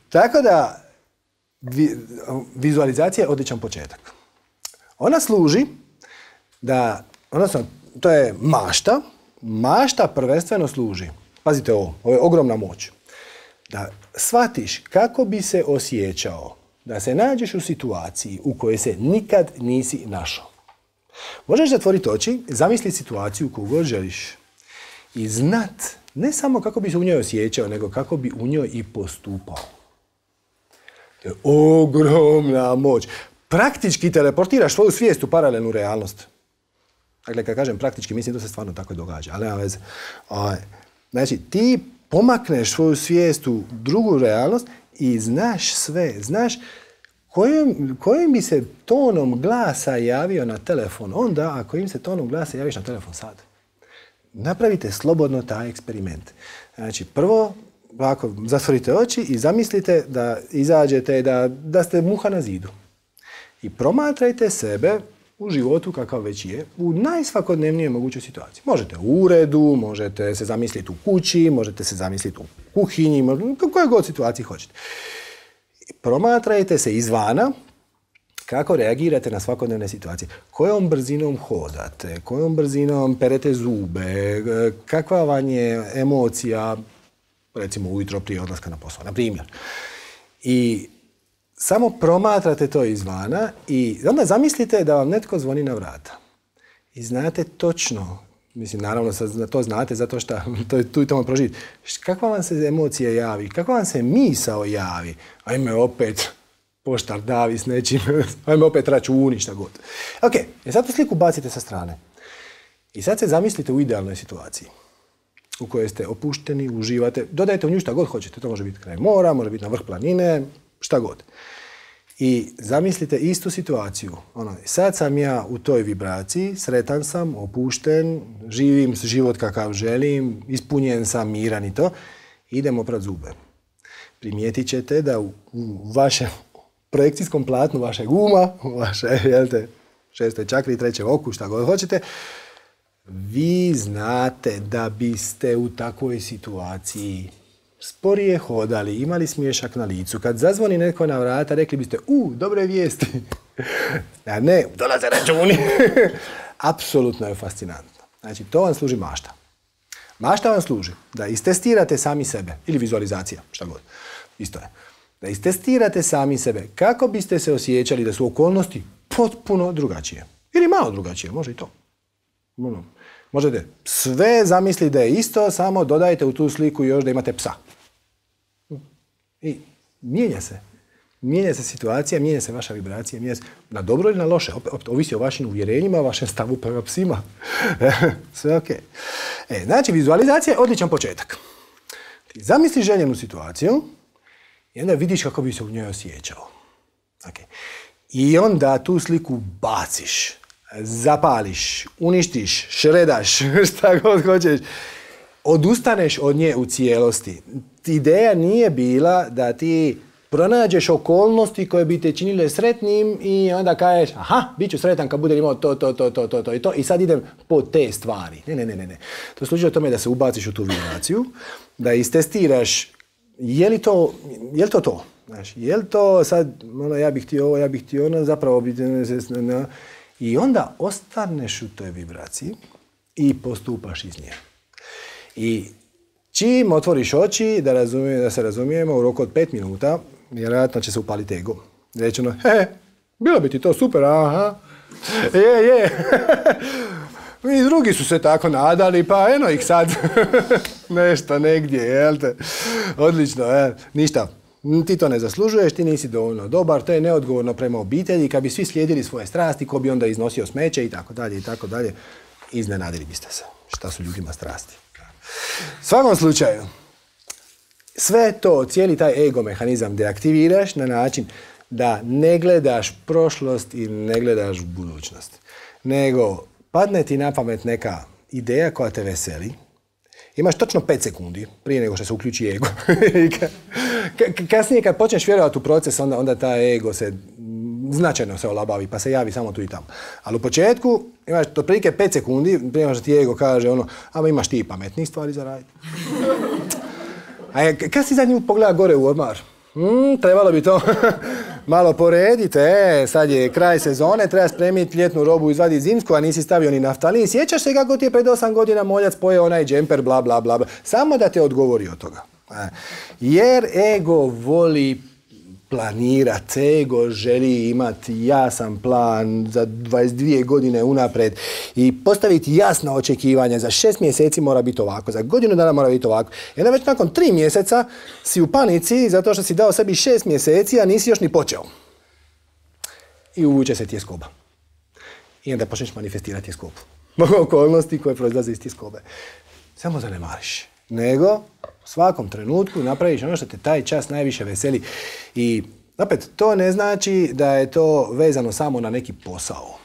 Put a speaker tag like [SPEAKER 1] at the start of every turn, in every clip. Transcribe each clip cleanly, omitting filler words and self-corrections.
[SPEAKER 1] Tako da, vizualizacija je odličan početak. Ona služi da, odnosno, to je mašta. Mašta prvenstveno služi, pazite ovo je ogromna moć, da shvatiš kako bi se osjećao, da se nađeš u situaciji u kojoj se nikad nisi našao. Možeš zatvoriti oči, zamisliti situaciju koju god želiš i znat ne samo kako bi se u njoj osjećao, nego kako bi u njoj i postupao. To je ogromna moć. Praktički teleportiraš svoju svijest u paralelnu realnost. Dakle, kad kažem praktički, mislim da se stvarno tako događa, ali nema veze. Znači, ti pomakneš svoju svijest u drugu realnost i znaš sve, znaš kojim bi se tonom glasa javio na telefon onda, a kojim se tonom glasa javiš na telefon sad. Napravite slobodno taj eksperiment. Znači, prvo, ovako, zatvorite oči i zamislite da izađete, da ste muha na zidu. I promatrajte sebe u životu kakav već je, u najsvakodnevnijoj mogućoj situaciji. Možete u uredu, možete se zamisliti u kući, možete se zamisliti u kuhinji, u kojoj god situaciji hoćete. Promatrajte se izvana kako reagirate na svakodnevne situacije. Kojom brzinom hodate, kojom brzinom perete zube, kakva vam je emocija, recimo ujutro prije odlaska na posao, na primjer. I samo promatrate to izvana i onda zamislite da vam netko zvoni na vrata. I znate točno, mislim, naravno to znate zato što tu i tamo proživite, kakva vam se emocija javi, kakva vam se misao javi, ajme opet poštar davi s nečim, ajme opet računi, šta god. Ok, sad tu sliku bacite sa strane. I sad se zamislite u idealnoj situaciji u kojoj ste opušteni, uživate, dodajte u nju šta god hoćete, to može biti kraj mora, može biti na vrh planine, šta god. I zamislite istu situaciju. Sad sam ja u toj vibraciji, sretan sam, opušten, živim život kakav želim, ispunjen sam, miran i to. Idem oprat zube. Primijetit ćete da u vašem projekcijskom platnu vašeg uma, u vaše, šestoj čakri, trećem oku, šta god hoćete, vi znate da biste u takvoj situaciji sporije hodali, imali smiješak na licu. Kad zazvoni netko na vrata, rekli biste, dobre vijesti. A ne, dolaze računi. Apsolutno je fascinantno. Znači, to vam služi mašta. Mašta vam služi da istestirate sami sebe, ili vizualizacija, šta god. Isto je. Da istestirate sami sebe. Kako biste se osjećali da su okolnosti potpuno drugačije. Ili malo drugačije, može i to. Možete sve zamisliti da je isto, samo dodajte u tu sliku još da imate psa. I mijenja se. Mijenja se situacija, mijenja se vaša vibracija, mijenja se na dobro ili na loše. Opet ovisi o vašim uvjerenjima, vašem stavu prema psima. Sve ok. Znači, vizualizacija je odličan početak. Ti zamisli željenu situaciju i onda vidiš kako bi se u njoj osjećao. Okay. I onda tu sliku baciš, zapališ, uništiš, šredaš, šta god hoćeš. Odustaneš od nje u cijelosti. Ideja nije bila da ti pronađeš okolnosti koje bi te činile sretnim i onda kažeš, bit ću sretan kad budem imao to i sad idem po te stvari. Ne. To služi o tome da se ubaciš u tu vibraciju, da istestiraš je li to. Znaš, je li to sad, ja bih htio ovo, ja bih htio ono, zapravo bi... I onda ostaneš u toj vibraciji i postupaš iz nje. I čim otvoriš oči, da se razumijemo, u roku od 5 minuta, vjerojatno će se upaliti ego. Reći bilo bi ti to super, aha. Je. I drugi su se tako nadali, pa eno ih sad. Nešto negdje, jel te? Odlično, ništa. Ti to ne zaslužuješ, ti nisi dovoljno dobar, to je neodgovorno prema obitelji, kad bi svi slijedili svoje strasti, ko bi onda iznosio smeće i tako dalje, iznenadili biste se šta su ljudima strasti. U svakom slučaju, sve to, cijeli taj ego mehanizam deaktiviraš na način da ne gledaš prošlost i ne gledaš budućnost, nego padne ti na pamet neka ideja koja te veseli. Imaš točno 5 sekundi prije nego što se uključi ego. Kasnije kad počneš vjerovati u proces, onda taj ego se značajno se olabavi, pa se javi samo tu i tamo. Ali u početku imaš otprilike 5 sekundi prije nego što ti ego kaže ama imaš ti pametnih stvari za raditi. A kad si zadnji put pogleda gore u ormar? Trebalo bi to malo porediti, sad je kraj sezone, treba spremiti ljetnu robu, izvaditi zimsku, a nisi stavio ni naftalin. Sjećaš se kako ti je pred 8 godina moljac pojeo onaj džemper, bla, bla, bla, bla. Samo da te odgovori od toga. Jer ego voli planirat, ego želi imati jasan plan za 22 godine unaprijed i postaviti jasna očekivanja. Za 6 mjeseci mora biti ovako, za godinu dana mora biti ovako. I onda već nakon 3 mjeseca si u panici zato što si dao sebi 6 mjeseci, a nisi još ni počeo. I uvuče se tjeskoba. I onda počneš manifestirati tjeskobu. Okolnosti koje proizlaze iz tjeskobe. Samo zanemariš. Nego u svakom trenutku napraviš ono što te taj čas najviše veseli. I opet, to ne znači da je to vezano samo na neki posao.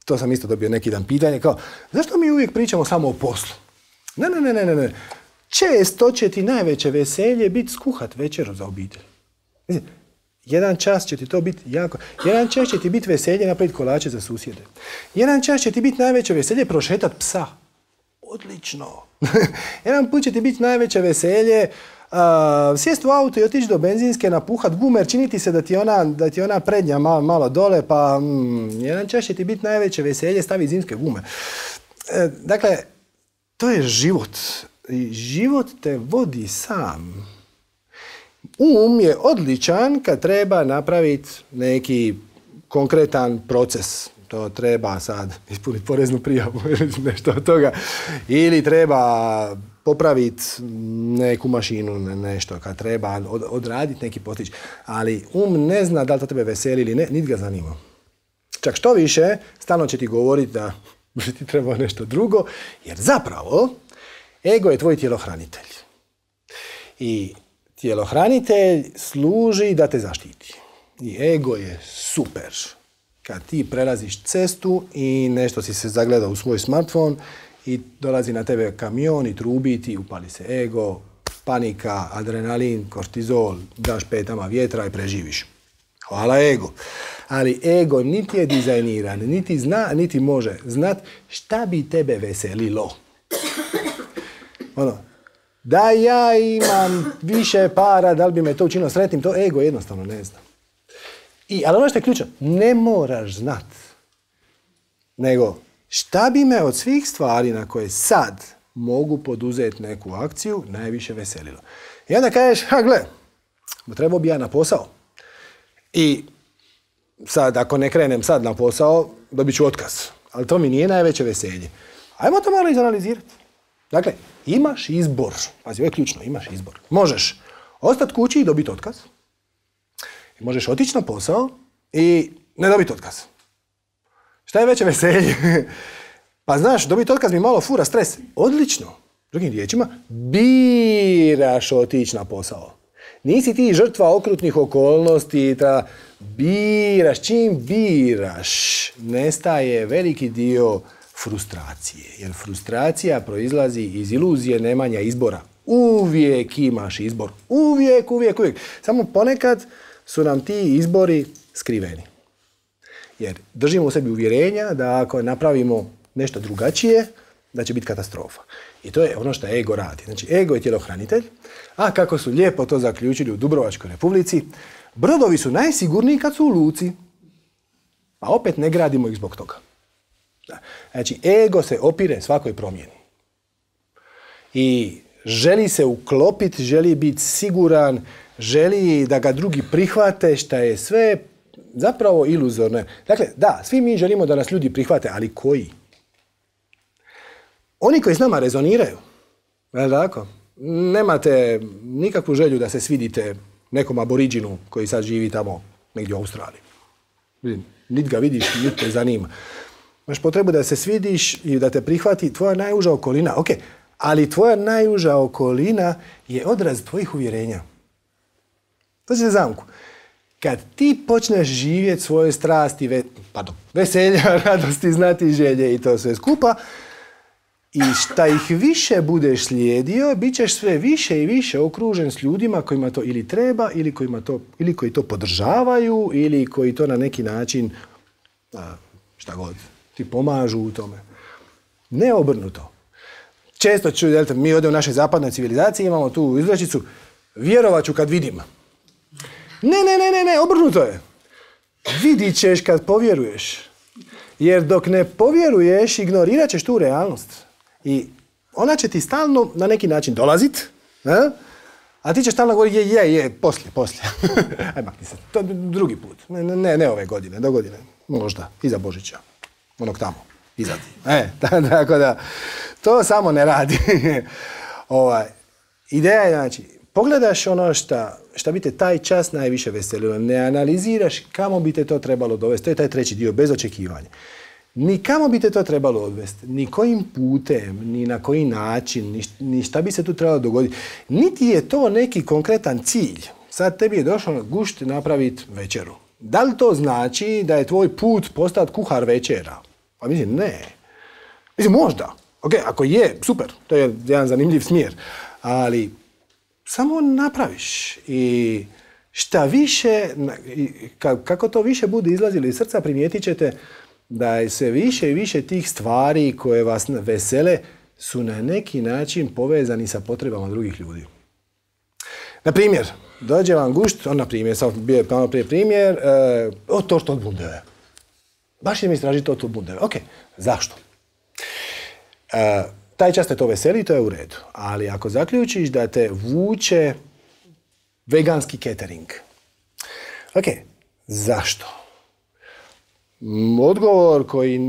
[SPEAKER 1] To sam isto dobio neki dan pitanje kao, zašto mi uvijek pričamo samo o poslu? Ne. Često će ti najveće veselje biti skuhat večeru za obitelj. Jedan čas će ti to biti jako... Jedan čas će ti biti veselje napraviti kolače za susjede. Jedan čas će ti biti najveće veselje prošetati psa. Odlično. Jedan put će ti biti najveće veselje sjesti u auto i otići do benzinske, napuhat gumer, činiti se da ti ona prednja malo dole, pa jedan čas će ti biti najveće veselje staviti zimske gume. Dakle, to je život. I život te vodi sam. Je odličan kad treba napraviti neki konkretan proces. To treba sad ispuniti poreznu prijavu ili nešto od toga. Ili treba popraviti neku mašinu, nešto, kad treba odraditi neki postić. Ali ne zna da li to tebe veseli ili ne, niti ga zanima. Čak što više, stalno će ti govoriti da bi ti trebao nešto drugo, jer zapravo ego je tvoj tjelohranitelj. I tjelohranitelj služi da te zaštiti. I ego je super. Kad ti prelaziš cestu i nešto si se zagledao u svoj smartfon i dolazi na tebe kamion i trubi ti, upali se ego, panika, adrenalin, kortizol, daš petama vjetra i preživiš. Hvala ego. Ali ego niti je dizajniran, niti zna, niti može znat šta bi tebe veselilo. Da ja imam više para, da li bi me to učinilo sretnim, to ego jednostavno ne zna. Ali ono što je ključno, ne moraš znat. Nego, šta bi me od svih stvari na koje sad mogu poduzeti neku akciju najviše veselilo. I onda kažeš, gle, trebao bi ja na posao. I sad, ako ne krenem sad na posao, dobit ću otkaz. Ali to mi nije najveće veselje. Ajmo to malo izanalizirati. Dakle, imaš izbor. Pazi, ovo je ključno, imaš izbor. Možeš ostati kući i dobiti otkaz. Možeš otići na posao i ne dobiti otkaz. Šta je veće veselje? Pa znaš, dobiti otkaz mi malo fura stres. Odlično. Drugim riječima, biraš otići na posao. Nisi ti žrtva okrutnih okolnosti, biraš. Čim biraš, nestaje veliki dio frustracije. Jer frustracija proizlazi iz iluzije nemanja izbora. Uvijek imaš izbor. Uvijek. Samo ponekad su nam ti izbori skriveni. Jer držimo u sebi uvjerenja da ako napravimo nešto drugačije, da će biti katastrofa. I to je ono što ego radi. Znači, ego je tjelohranitelj, a kako su lijepo to zaključili u Dubrovačkoj Republici, brodovi su najsigurniji kad su u luci. A opet ne gradimo ih zbog toga. Znači, ego se opire svakoj promjeni. I želi se uklopiti, želi biti siguran, želi da ga drugi prihvate, šta je sve zapravo iluzorno. Dakle, da, svi mi želimo da nas ljudi prihvate, ali koji? Oni koji s nama rezoniraju. Je li tako? Nemate nikakvu želju da se svidite nekom aboriđinu koji sad živi tamo negdje u Australiji. Niti ga vidiš, niti te zanima. Imaš potrebu da se svidiš i da te prihvati tvoja najuža okolina. Ok, ali tvoja najuža okolina je odraz tvojih uvjerenja. To se zamku. Kad ti počneš živjeti svoje strasti, veselja, radosti, znati, želje i to sve skupa, i šta ih više budeš slijedio, bit ćeš sve više i više okružen s ljudima kojima to ili treba, ili koji to podržavaju, ili koji to na neki način, šta god, ti pomažu u tome. Ne obrnuto. Često mi ovdje u našoj zapadnoj civilizaciji imamo tu izrečicu, vjerovat ću kad vidim. Ne, obrnuto je. Vidit ćeš kad povjeruješ. Jer dok ne povjeruješ, ignorirat ćeš tu realnost. I ona će ti stalno na neki način dolazit, a ti ćeš stalno govoriti poslije. Aj, makni se, to drugi put. Ne ove godine, do godine. Možda, iza Božića. Onog tamo, iza ti. Tako da, to samo ne radi. Ideja je, znači, pogledaš ono šta bi te taj čas najviše veselilo. Ne analiziraš kamo bi te to trebalo dovesti. To je taj treći dio, bez očekivanja. Ni kamo bi te to trebalo odvesti, ni kojim putem, ni na koji način, ni šta bi se tu trebalo dogoditi. Niti je to neki konkretan cilj. Sad tebi je došlo gušt napraviti večeru. Da li to znači da je tvoj put postati kuhar večera? Pa mislim, ne. Mislim, možda. Ok, ako je, super. To je jedan zanimljiv smjer. Ali samo napraviš. I šta više, kako to više bude izlazilo iz srca, primijetit ćete da je sve više i više tih stvari koje vas vesele su na neki način povezani sa potrebama drugih ljudi. Na primjer, dođe vam gušt, na primjer, sad bio je malo prije primjer, Tortbundeve. Baš je mi istražiti Tortbundeve. Ok, zašto? Taj čas te to veseli, to je u redu. Ali ako zaključiš da te vuče veganski catering. Ok, zašto? Odgovor koji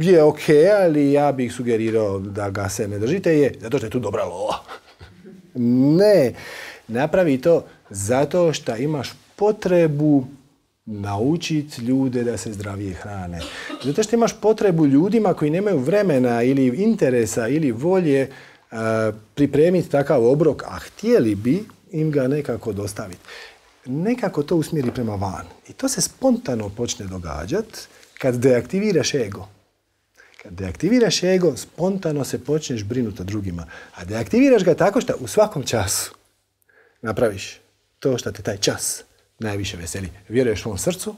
[SPEAKER 1] je ok, ali ja bih sugerirao da ga se ne držite je zato što je tu dobra lova. Ne, napravi to zato što imaš potrebu naučiti ljude da se zdravije hrane. Zato što imaš potrebu ljudima koji nemaju vremena ili interesa ili volje pripremiti takav obrok, a htjeli bi im ga nekako dostaviti. Nekako to usmjeri prema van. I to se spontano počne događati kad deaktiviraš ego. Kad deaktiviraš ego, spontano se počneš brinuti o drugima. A deaktiviraš ga tako što u svakom času napraviš to što te taj čas najviše veseli. Vjeruješ svom srcu,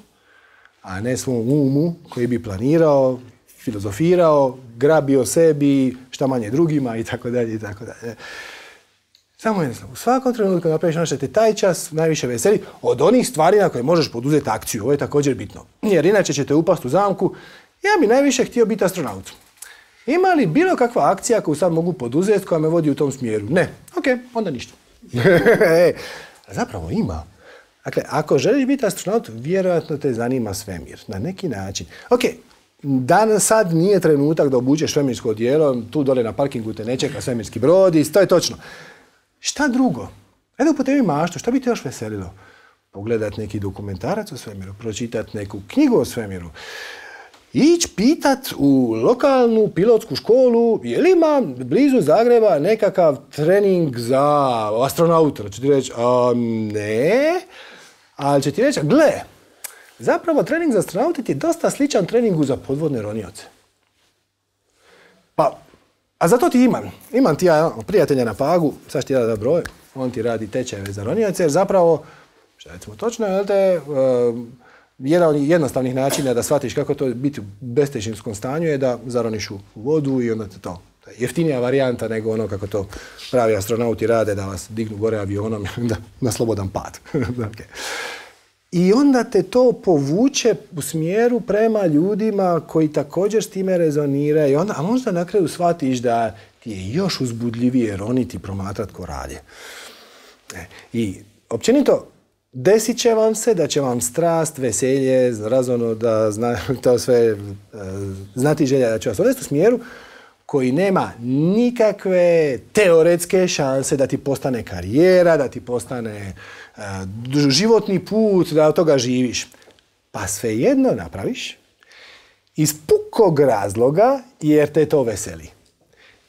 [SPEAKER 1] a ne svom umu koji bi planirao, filozofirao, grabio sebi, šta manje drugima i tako dalje i tako dalje. Samo jednostavno, u svakom trenutku napraviš ono što te taj čas najviše veseli od onih stvari na koje možeš poduzeti akciju. Ovo je također bitno. Jer inače ćete upasti u zamku. Ja bi najviše htio biti astronaut. Ima li bilo kakva akcija koju sad mogu poduzeti koja me vodi u tom smjeru? Ne. Ok, onda ništa. Zapravo ima. Dakle, ako želiš biti astronaut, vjerojatno te zanima svemir. Na neki način. Ok, sad nije trenutak da obučeš svemirsko odijelo, tu dole na parkingu te ne čeka svemirski brod i to je točno. Šta drugo? Ajde upotrebi maštu, šta bi te još veselilo? Pogledat neki dokumentarac o svemiru, pročitat neku knjigu o svemiru, ići pitat u lokalnu pilotsku školu je li ima blizu Zagreba nekakav trening za astronauta. Će ti reći, ne, ali će ti reći, gle, zapravo trening za astronauta ti je dosta sličan treningu za podvodne ronioce. Pa, a zato ti imam ti ja prijatelja na Pagu, sad ću ti da broj, on ti radi tečajeve za ronioce, jer zapravo, što recimo točno, jedan od jednostavnih načina da shvatiš kako to biti u bestežinskom stanju je da zaroniš u vodu i onda to je jeftinija varijanta nego ono kako to pravi astronauti rade, da vas dignu gore avionom na slobodan pad. Okay. I onda te to povuče u smjeru prema ljudima koji također s time rezoniraju. A možda na kraju shvatiš da ti je još uzbudljivije roniti i promatrati ko rade. I općenito, desit će vam se da će vam strast, veselje, razono da to sve znati želja da će vas odvesti u smjeru koji nema nikakve teoretske šanse da ti postane karijera, da ti postane životni put, da od toga živiš. Pa svejedno napraviš iz pukog razloga jer te to veseli.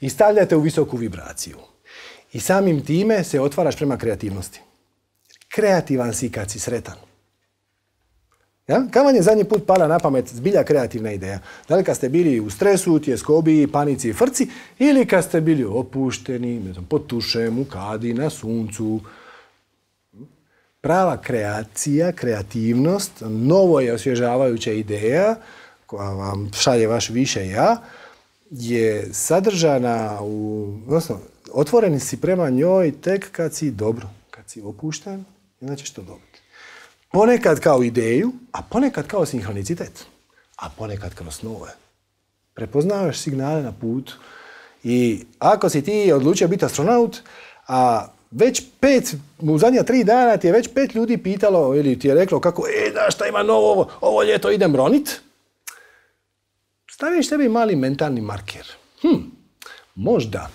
[SPEAKER 1] I stavljate u visoku vibraciju. I samim time se otvaraš prema kreativnosti. Kreativan si kad si sretan. Ja? Kad vam je zadnji put pala na pamet zbilja kreativna ideja? Da li kad ste bili u stresu, tjeskobi, panici i frci, ili kad ste bili opušteni, ne znam, pod tušem, u kadi, na suncu? Prava kreacija, kreativnost, novo je osvježavajuća ideja koja vam šalje vaš više ja, je sadržana odnosno, otvoreni si prema njoj tek kad si dobro, kad si opušten, onda ćeš to dobiti. Ponekad kao ideju, a ponekad kao sinhronicitet, a ponekad kroz snove. Prepoznavaš signale na putu i ako si ti odlučio biti astronaut, a već u zadnja 3 dana ti je već 5 ljudi pitalo ili ti je reklo kako, da šta ima novo, ovo ljeto idem ronit, staviš sebi mali mentalni marker. Možda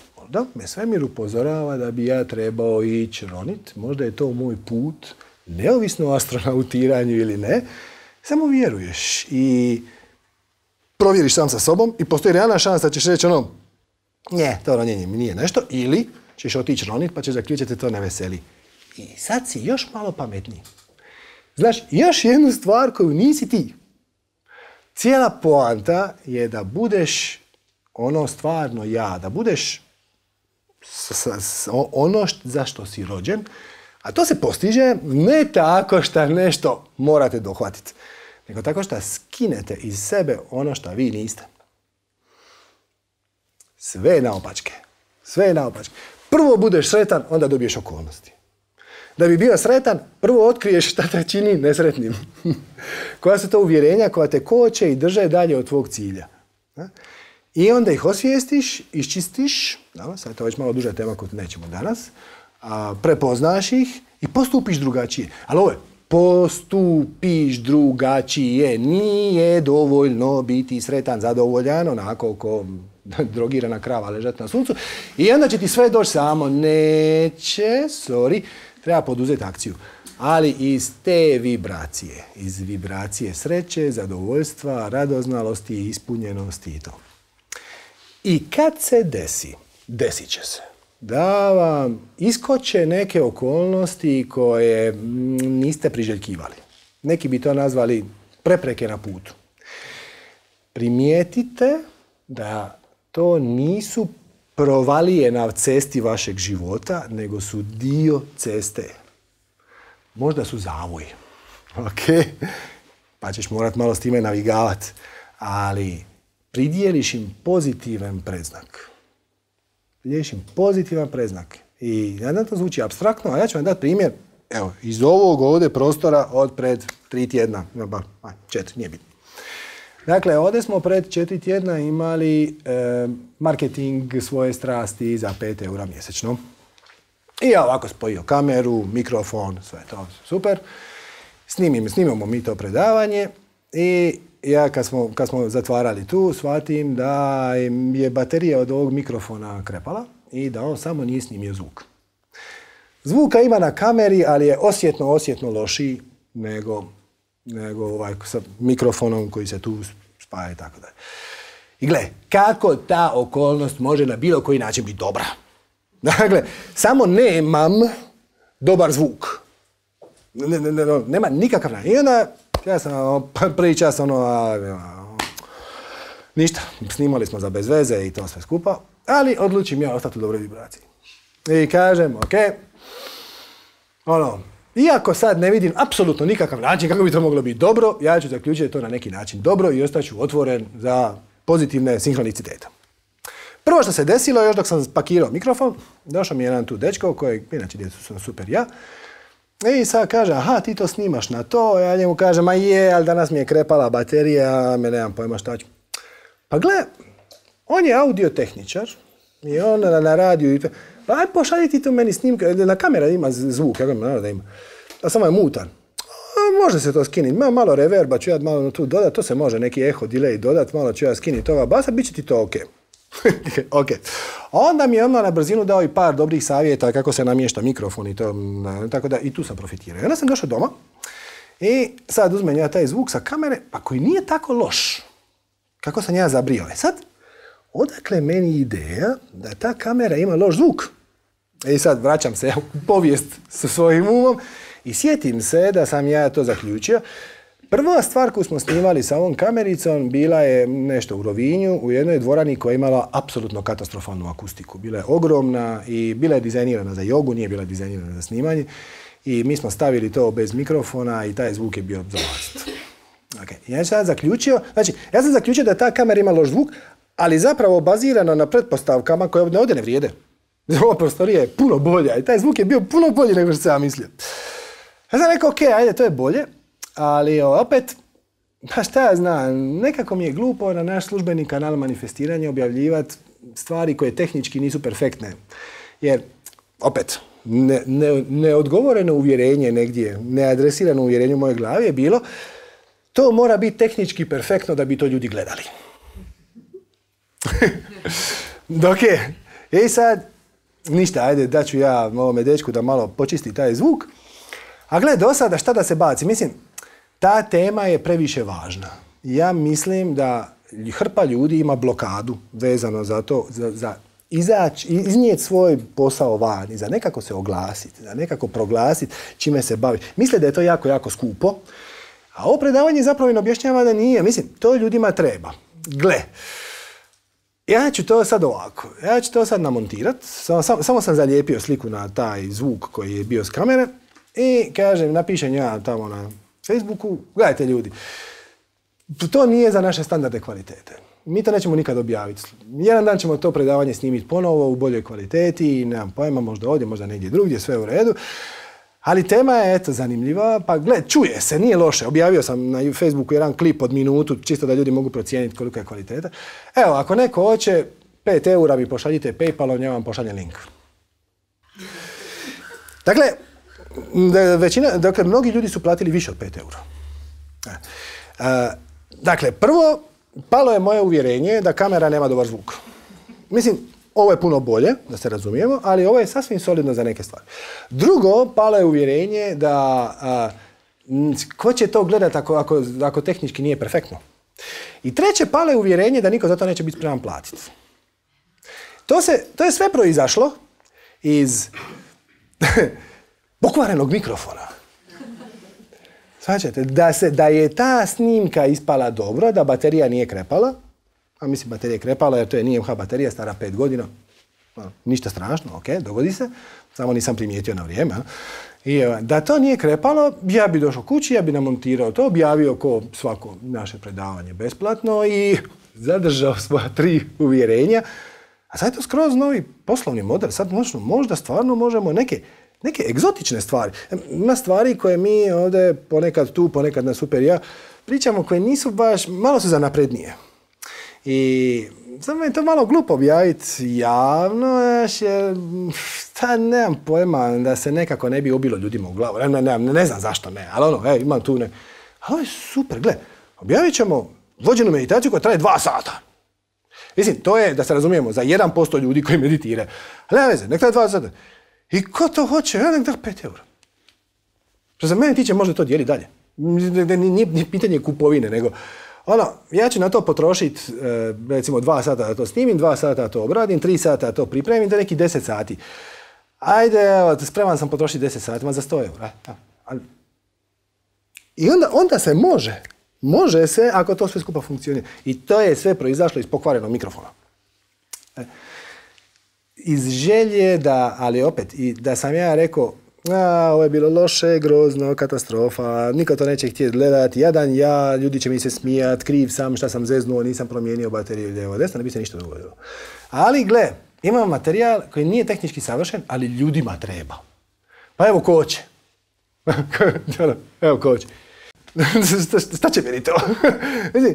[SPEAKER 1] me svemir upozorava da bi ja trebao ići ronit, možda je to moj put, neovisno o astronautiranju ili ne, samo vjeruješ i provjeriš sam sa sobom i postoji realna šansa da ćeš reći to ronjenje mi nije nešto, ili ćeš otići ronit pa ćeš zaključiti to ne veseli. I sad si još malo pametniji. Znaš, još jednu stvar koju nisi ti. Cijela poanta je da budeš stvarno ja, da budeš ono za što si rođen, a to se postiže ne tako što nešto morate dohvatiti, nego tako što skinete iz sebe ono što vi niste. Sve je naopačke. Prvo budeš sretan, onda dobiješ okolnosti. Da bi bio sretan, prvo otkriješ šta te čini nesretnim. Koja su to uvjerenja koja te koče i drže dalje od tvog cilja. I onda ih osvijestiš, iščistiš, sad je to već malo duža tema koju nećemo danas, prepoznaš ih i postupiš drugačije. Ali ovo je, postupiš drugačije, nije dovoljno biti sretan, zadovoljan, onako ko drogirana krava ležati na suncu i onda će ti sve doći samo, neće, treba poduzeti akciju. Ali iz te vibracije, iz vibracije sreće, zadovoljstva, radoznalosti, ispunjenosti i to. I kad se desit će se da vam iskoče neke okolnosti koje niste priželjkivali. Neki bi to nazvali prepreke na putu. Primijetite da to nisu provalije na cesti vašeg života, nego su dio ceste. Možda su zavoj. Ok? Pa ćeš morat malo s time navigavati. Ali pridijeliš im pozitivan predznak. I nadam to zvuči apstraktno, a ja ću vam dati primjer, evo, iz ovog ovdje prostora od pred 3 tjedna, 4, nije bitno. Dakle, ovdje smo pred 4 tjedna imali marketing svoje strasti za 5 eura mjesečno. I ja ovako spojio kameru, mikrofon, sve to super. Snimamo mi to predavanje i ja kad smo zatvarali tu, shvatim da je baterija od ovog mikrofona krepala i da on samo nije snimio zvuk. Zvuka ima na kameri, ali je osjetno lošiji nego sa mikrofonom koji se tu spaja i tako dalje. I gle, kako ta okolnost može na bilo koji način biti dobra? Dakle, samo nemam dobar zvuk. Nema nikakav način. I onda, ja sam prvi čas ništa, snimali smo za bez veze i to sve skupa, ali odlučim ja ostati u dobroj vibraciji. I kažem, ok, iako sad ne vidim apsolutno nikakav način kako bi to moglo biti dobro, ja ću zaključiti to na neki način dobro i ostaću otvoren za pozitivne sinhronicitete. Prvo što se desilo, još dok sam pakirao mikrofon, došao mi jedan tu dečko, kojeg, inače djecu sam super ja, i sad kaže, aha, ti to snimaš na to, ja njemu kažem, ma je, ali danas mi je krepala baterija, me nemam pojma šta ću. Pa gle, on je audiotehničar i on na radiju, pa aj pošalji ti to meni snimka, na kamera ima zvuk, ja ga da ima, a samo je mutan. Može se to skiniti, malo reverba ću ja malo tu dodat, to se može neki eho, delay dodat, malo ću ja skiniti toga basa, bit će ti to ok. Ok. Onda mi je odmah na brzinu dao i par dobrih savjeta kako se namješta mikrofon i to, tako da i tu sam profitirao. I onda sam došao doma i sad uzmem ja taj zvuk sa kamere, pa koji nije tako loš. Kako sam ja zabrio. Sad, odakle meni ideja da ta kamera ima loš zvuk? I sad vraćam se u povijest sa svojim umom i sjetim se da sam ja to zaključio. Prva stvar koju smo snimali sa ovom kamericom bila je nešto u Rovinju, u jednoj dvorani koja je imala apsolutno katastrofalnu akustiku. Bila je ogromna i bila je dizajnirana za jogu, nije bila dizajnirana za snimanje. I mi smo stavili to bez mikrofona i taj zvuk je bio zavlast. Okay. Ja sam zaključio da ta kamera ima loš zvuk, ali zapravo bazirano na pretpostavkama koje ovdje ne vrijede. Ova prostorija je puno bolja i taj zvuk je bio puno bolji nego što sam ja mislio. Ja sam rekao, ok, ajde, to je bolje, ali opet, pa šta ja znam, nekako mi je glupo na naš službeni kanal manifestiranja objavljivati stvari koje tehnički nisu perfektne. Jer, opet, neodgovoreno uvjerenje negdje, neadresirano uvjerenje u mojoj glavi je bilo to mora biti tehnički perfektno da bi to ljudi gledali. Dok je, i sad, ništa, ajde, daću ja ovome dečku da malo počisti taj zvuk. A gle, do sada šta da se baci? Mislim, ta tema je previše važna. Ja mislim da hrpa ljudi ima blokadu vezano za to, za izaći, iznijeti svoj posao van i za nekako se oglasiti, za nekako proglasiti čime se bavi. Misle da je to jako, jako skupo, a ovo predavanje zapravo im objašnjava da nije. Mislim, to ljudima treba. Gle, ja ću to sad ovako, ja ću to sad namontirati, samo sam zalijepio sliku na taj zvuk koji je bio s kamere i kažem, napišem ja tamo na Facebooku, gledajte ljudi, to nije za naše standarde kvalitete. Mi to nećemo nikad objaviti. Jedan dan ćemo to predavanje snimiti ponovo u boljoj kvaliteti i nemam pojma, možda ovdje, možda negdje drugdje, sve u redu. Ali tema je, eto, zanimljiva, pa gled, čuje se, nije loše. Objavio sam na Facebooku jedan klip od minutu, čisto da ljudi mogu procijeniti kolika je kvaliteta. Evo, ako neko hoće, 5 eura mi pošaljite PayPalom, ja vam pošaljem link. Dakle, mnogi ljudi su platili više od 5 eura. Dakle, prvo, palo je moje uvjerenje da kamera nema dobar zvuk. Mislim, ovo je puno bolje, da se razumijemo, ali ovo je sasvim solidno za neke stvari. Drugo, palo je uvjerenje da ko će to gledati ako tehnički nije perfektno. I treće, palo je uvjerenje da niko za to neće biti spreman platiti. To je sve proizašlo iz pokvarenog mikrofona. Svačate, da je ta snimka ispala dobro, da baterija nije krepala, a mislim baterija je krepala jer to je NMH baterija, stara 5 godina, ništa strašno, ok, dogodi se, samo nisam primijetio na vrijeme. I da to nije krepalo, ja bi došao kući, ja bi namontirao to, objavio ko svako naše predavanje besplatno i zadržao svoja 3 uvjerenja. A sad je to skroz novi poslovni model, sad možda stvarno možemo neke egzotične stvari. Ima stvari koje mi ovdje ponekad tu, ponekad na Super ja pričamo koje nisu baš, malo su za naprednije. I samo je to malo glupo objaviti javno, jer nemam pojma da se nekako ne bi ubilo ljudima u glavu. Ne znam zašto ne, ali imam tu ne. Ali ovo je super, gle, objavit ćemo vođenu meditaciju koja traje 2 sata. Mislim, to je, da se razumijemo, za 1% ljudi koji meditiraju. Ali nema veze, nek traje 2 sata. I ko to hoće? Nek da 5 eura. Što za mene tiče, može to dijeli dalje. Nije pitanje kupovine, nego ja ću na to potrošiti recimo 2 sata da to snimim, 2 sata da to obradim, 3 sata da to pripremim, to je neki 10 sati. Ajde, evo, spreman sam potrošiti 10 sati, za 100 eura. I onda se može se ako to sve skupa funkcionira. I to je sve proizašlo iz pokvarenog mikrofona. Iz želje da, ali opet, i da sam ja rekao, ovo je bilo loše, grozno, katastrofa, niko to neće htjeti gledati, jadan ja, ljudi će mi se smijat, kriv sam, šta sam zeznuo, nisam promijenio bateriju lijevo desno, ne bi se ništa dogodilo. Ali gle, imamo materijal koji nije tehnički savršen, ali ljudima treba. Pa evo ko hoće. Evo ko hoće. Šta će meni to?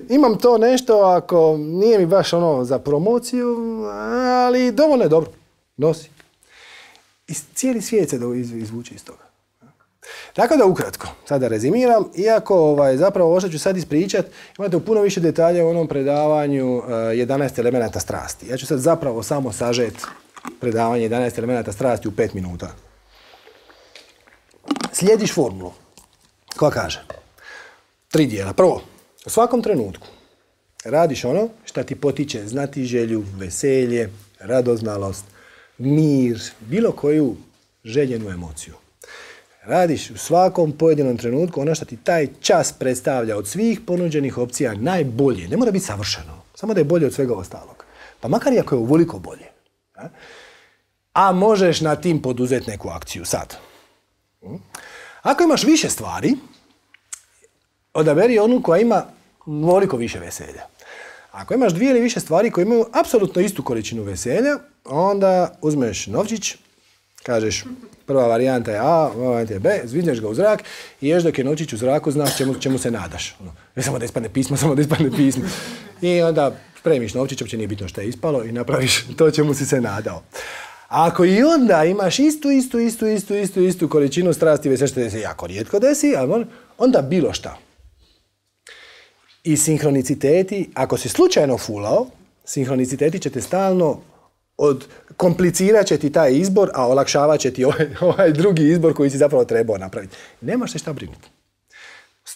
[SPEAKER 1] Imam to nešto, ako nije mi baš za promociju, ali dovoljno je dobro. Nosi. I cijeli svijet se izvuče iz toga. Tako da ukratko, sada rezimiram, iako zapravo ovo što ću sad ispričat, imate u puno više detalja u onom predavanju 11 elemenata strasti. Ja ću sad zapravo samo sažet predavanje 11 elemenata strasti u 5 minuta. Slijediš formulu koja kaže 3 dijela. Prvo, u svakom trenutku radiš ono što ti potiče znatiželju, veselje, radoznalost, mir, bilo koju željenu emociju. Radiš u svakom pojedinom trenutku ono što ti taj čas predstavlja od svih ponuđenih opcija najbolje. Ne mora biti savršeno, samo da je bolje od svega ostalog. Pa makar i ako je uvoliko bolje. A možeš na tim poduzeti neku akciju sad. Ako imaš više stvari, odaberi onu koja ima ovoliko više veselja. Ako imaš 2 ili više stvari koje imaju apsolutno istu količinu veselja, onda uzmeš novčić, Kažeš, prva varijanta je A, prva varijanta je B, zvizneš ga u zrak i još dok je noćić u zraku znaš čemu se nadaš. Samo da ispadne pismo. I onda spremiš novčić, uopće nije bitno što je ispalo i napraviš to čemu si se nadao. A ako i onda imaš istu količinu strasti, već što se jako rijetko desi, ali onda bilo šta. I sinhroniciteti, ako si slučajno fulao, sinhroniciteti će te stalno komplicirat će ti taj izbor, a olakšavat će ti ovaj drugi izbor koji si zapravo trebao napraviti. Nemaš se šta brinuti.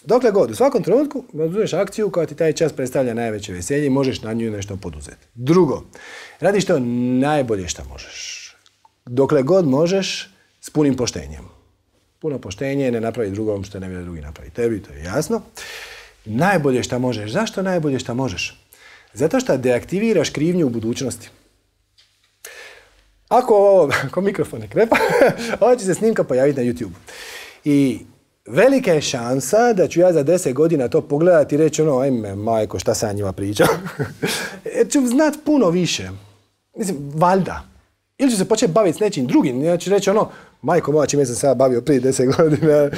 [SPEAKER 1] Dokle god, u svakom trenutku poduzmeš akciju koja ti taj čas predstavlja najveće veselje i možeš na nju nešto poduzeti. Drugo, radiš to najbolje što možeš. Dokle god možeš, s punim poštenjem. Puno poštenje, ne napravi drugom što ne vidi drugi napravi tebi, to je jasno. Najbolje što možeš. Zašto najbolje što možeš? Zato što deaktiviraš krivnju u budućnosti. Ako mikrofon ne krepa, ovo će se snimka pojaviti na YouTube. I velika je šansa da ću ja za 10 godina to pogledati i reći ajme, majko, šta sam njima pričao. Jer ću znat puno više. Mislim, valjda. Ili ću se početi baviti s nečim drugim. Ja ću reći majko moja, čime sam se ja bavio prije 10 godina.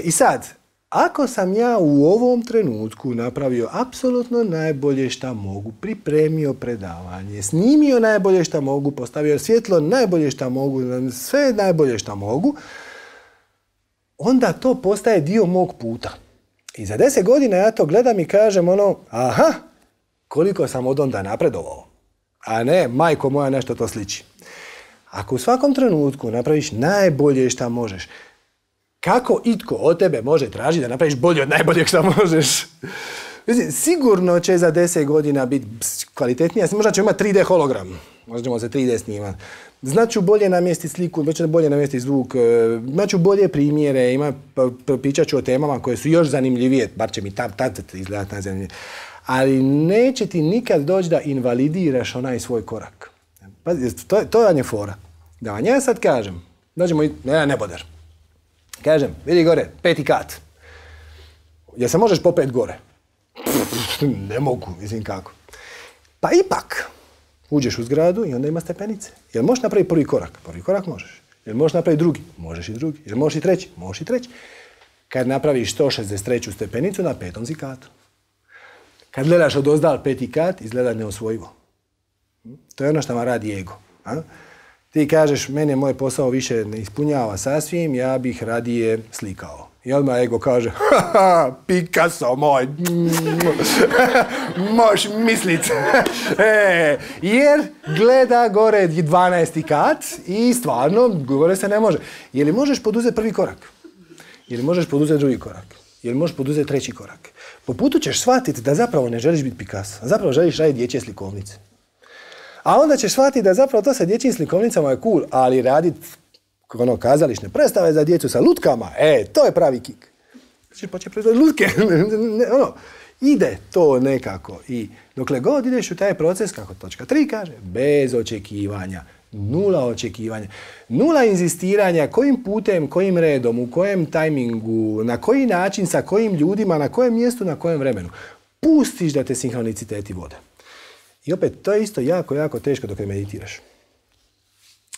[SPEAKER 1] I sad, ako sam ja u ovom trenutku napravio apsolutno najbolje šta mogu, pripremio predavanje, snimio najbolje šta mogu, postavio svjetlo najbolje šta mogu, sve najbolje šta mogu, onda to postaje dio mog puta. I za 10 godina ja to gledam i kažem aha, koliko sam od onda napredovao. A ne, majko moja, nešto to sliči. Ako u svakom trenutku napraviš najbolje šta možeš, kako itko od tebe može tražiti da napraviš bolje od najboljeg šta možeš? Mislim, sigurno će za 10 godina biti kvalitetnija. Možda ćemo imati 3D hologram. Možda ćemo se 3D snimati. Znaću bolje namjestiti sliku, znaću bolje namjestiti zvuk, znaću bolje primjere, pričat ću o temama koje su još zanimljivije, bar će mi tad izgledati najzanimljivije. Ali neće ti nikad doći da invalidiraš onaj svoj korak. Pazi, to vam je fora. Da vam ja sad kažem, dođemo i neboder. Kažem, vidi gore, 5. kat. Jel se možeš popet gore? Ne mogu, mislim kako. Pa ipak, uđeš u zgradu i onda ima stepenice. Jel možeš napraviti prvi korak? Prvi korak možeš. Jel možeš napraviti drugi? Možeš i drugi. Jel možeš i treći? Možeš i treći. Kad napraviš 163. stepenicu, na 5. si katu. Kad gledaš odozdal 5. kat, izgleda neosvojivo. To je ono što vam radi ego. A? Ti kažeš, mene moj posao više ne ispunjava sasvim, ja bih radije slikao. I odmah ego kaže, haha, Picasso moj, možeš mislit. Jer gleda gore 12. kat i stvarno, gore se ne može. Je li možeš poduzeti prvi korak? Je li možeš poduzeti drugi korak? Je li možeš poduzeti treći korak? Po putu ćeš shvatiti da zapravo ne želiš biti Picasso, a zapravo želiš raditi dječje slikovnice. A onda ćeš shvatiti da zapravo to sa dječjim slikovnicama je cool, ali raditi kazališne predstave za djecu sa lutkama, to je pravi kik. Znači početi proizvoditi lutke. Ide to nekako. I dokle god ideš u taj proces, kako točka 3 kaže, bez očekivanja, 0 očekivanja, 0 inzistiranja, kojim putem, kojim redom, u kojem tajmingu, na koji način, sa kojim ljudima, na kojem mjestu, na kojem vremenu. Pustiš da te sinhroniciteti vode. I opet, to je isto jako, jako teško dok ne meditiraš.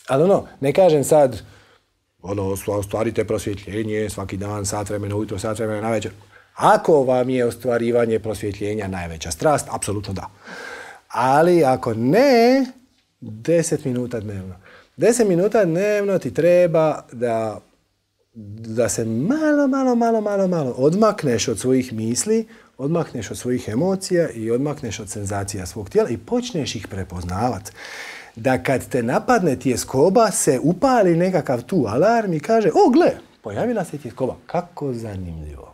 [SPEAKER 1] Ali ne kažem sad, ostvarite prosvjetljenje svaki dan, sat vremena ujutro, sat vremena navečer. Ako vam je ostvarivanje prosvjetljenja najveća strast, apsolutno da. Ali ako ne, 10 minuta dnevno. 10 minuta dnevno ti treba da se malo odmakneš od svojih misli, odmakneš od svojih emocija i odmakneš od senzacija svog tijela i počneš ih prepoznavati. Da kad te napadne tjeskoba se upali nekakav tu alarm i kaže, gle, pojavila se tjeskoba. Kako zanimljivo.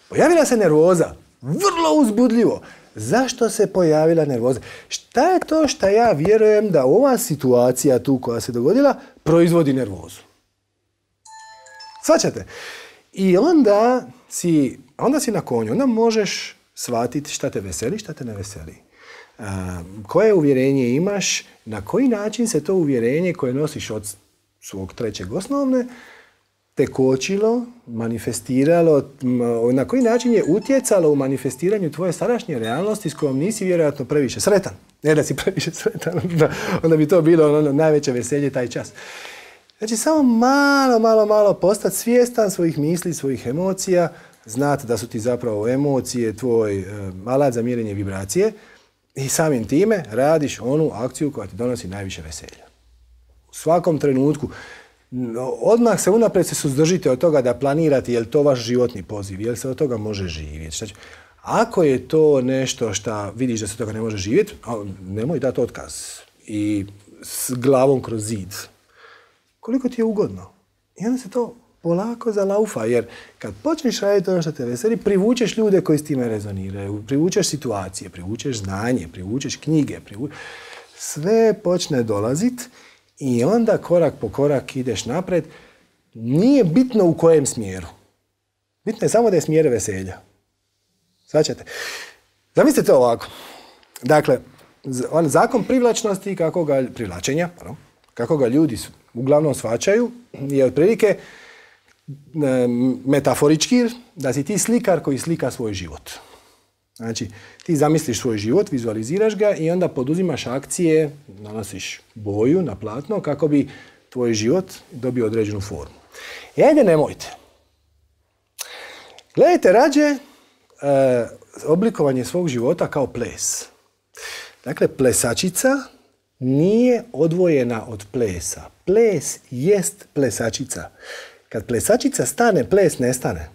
[SPEAKER 1] Pojavila se nervoza. Vrlo uzbudljivo. Zašto se pojavila nervoza? Šta je to što ja vjerujem da ova situacija tu koja se dogodila proizvodi nervozu? Shvaćate? I onda si na konju. Onda možeš shvatiti šta te veseli, šta te ne veseli. Koje uvjerenje imaš, na koji način se to uvjerenje koje nosiš od svog 3. osnovne te kočilo, manifestiralo, na koji način je utjecalo u manifestiranju tvoje sadašnje realnosti s kojom nisi vjerojatno previše sretan. Ne da si previše sretan, onda bi to bilo najveće veselje taj čas. Znači, samo malo postati svjestan svojih misli, svojih emocija, znati da su ti zapravo emocije tvoj alat za mjerenje vibracije i samim time radiš onu akciju koja ti donosi najviše veselja. U svakom trenutku, odmah se unaprijed se suzdržite od toga da planirate je li to vaš životni poziv, je li se od toga može živjeti. Ako je to nešto što vidiš da se od toga ne može živjeti, nemoj dati otkaz i s glavom kroz zid. Koliko ti je ugodno. I onda se to polako zalaufa, jer kad počneš raditi ono što te veseli, privučeš ljude koji s time rezoniraju, privučeš situacije, privučeš znanje, privučeš knjige, sve počne dolazit i onda korak po korak ideš napred. Nije bitno u kojem smjeru. Bitno je samo da je smjer veselja. Svaćate? Zamislite ovako. Dakle, zakon privlačnosti, privlačenja, kako ga ljudi uglavnom shvaćaju, je otprilike metaforički da si ti slikar koji slika svoj život. Znači, ti zamisliš svoj život, vizualiziraš ga i onda poduzimaš akcije, nanosiš boju na platno kako bi tvoj život dobio određenu formu. Ajde, nemojte. Gledajte rađe oblikovanje svog života kao ples. Dakle, plesačica nije odvojena od plesa. Ples jest plesačica. Kad plesačica stane, ples nestane.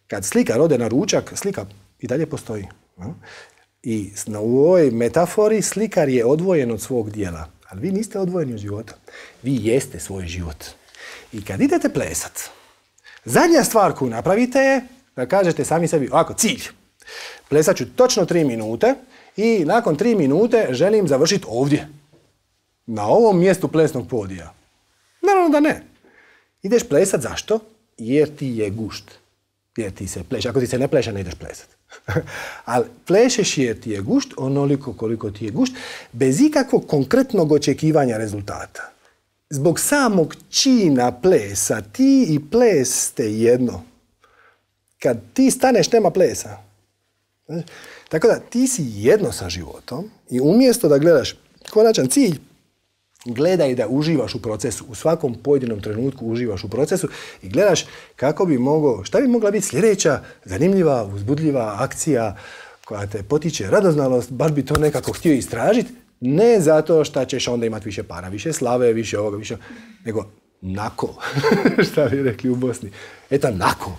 [SPEAKER 1] Kad slikar ode na ručak, slika i dalje postoji. I u ovoj metafori slikar je odvojen od svog dijela. Ali vi niste odvojeni od života. Vi jeste svoj život. I kad idete plesat, zadnja stvar koju napravite je da kažete sami sebi, ovako, cilj. Plesat ću točno 3 minute i nakon 3 minute želim završiti ovdje. Na ovom mjestu plesnog podija. Naravno da ne. Ideš plesat zašto? Jer ti je gušt. Jer ti se pleše. Ako ti se ne pleša, ne ideš plesat. Ali plešeš jer ti je gušt, onoliko koliko ti je gušt, bez ikakvog konkretnog očekivanja rezultata. Zbog samog čina plesa, ti i ples ste jedno. Kad ti staneš, nema plesa. Tako da ti si jedno sa životom i umjesto da gledaš konačan cilj, gledaj da uživaš u procesu. U svakom pojedinom trenutku uživaš u procesu i gledaš kako bi mogao, šta bi mogla biti sljedeća zanimljiva, uzbudljiva akcija koja te potiče radoznalost, baš bi to nekako htio istražiti, ne zato što ćeš onda imati više para, više slave, više ovoga, više, nego nako, šta bi rekli u Bosni, eto nako,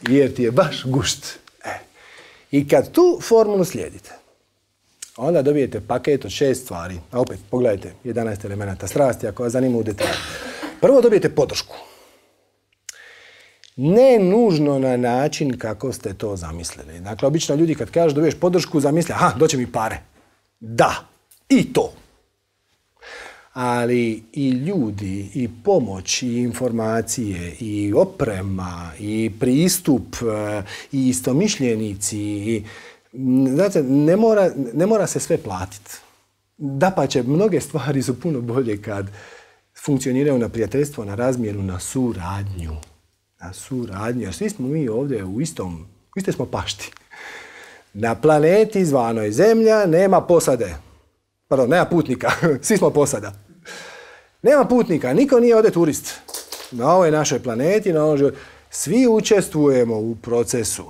[SPEAKER 1] jer ti je baš gušt. I kad tu formulu slijedite, onda dobijete paket od 6 stvari. A opet, pogledajte, 11 elemenata strasti, ako vas zanima u detalju. Prvo dobijete podršku. Ne nužno na način kako ste to zamislili. Dakle, obično ljudi kad kažu dobiješ podršku, zamisle, aha, doće mi pare. Da, i to. Ali i ljudi, i pomoć, i informacije, i oprema, i pristup, i istomišljenici, i znate, ne mora se sve platiti. Dapače, mnoge stvari su puno bolje kad funkcioniraju na prijateljstvo, na razmjenu, na suradnju. Na suradnju, jer svi smo mi ovdje u istoj smo pašti. Na planeti zvanoj Zemlja nema posade. Pardon, nema putnika, svi smo posada. Nema putnika, niko nije ovdje turist. Na ovoj našoj planeti, na ovom životu. Svi učestvujemo u procesu.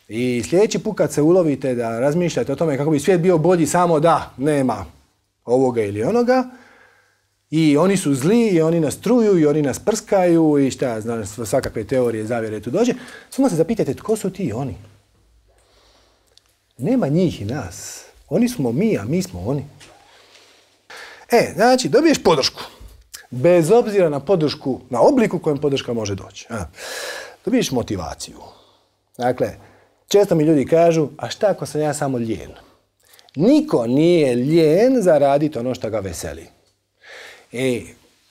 [SPEAKER 1] I sljedeći put kad se ulovite da razmišljate o tome kako bi svijet bio bolji samo da nema ovoga ili onoga, i oni su zli, i oni nas truju, i oni nas prskaju, i šta, znam, svakakve teorije zavjere tu dođe, samo se zapitajte tko su ti oni. Nema njih i nas. Oni smo mi, a mi smo oni. Znači, dobiješ podršku. Bez obzira na podršku, na obliku kojem podrška može doći. Dobiješ motivaciju. Dakle, često mi ljudi kažu, a šta ako sam ja samo lijen? Niko nije lijen za raditi ono što ga veseli.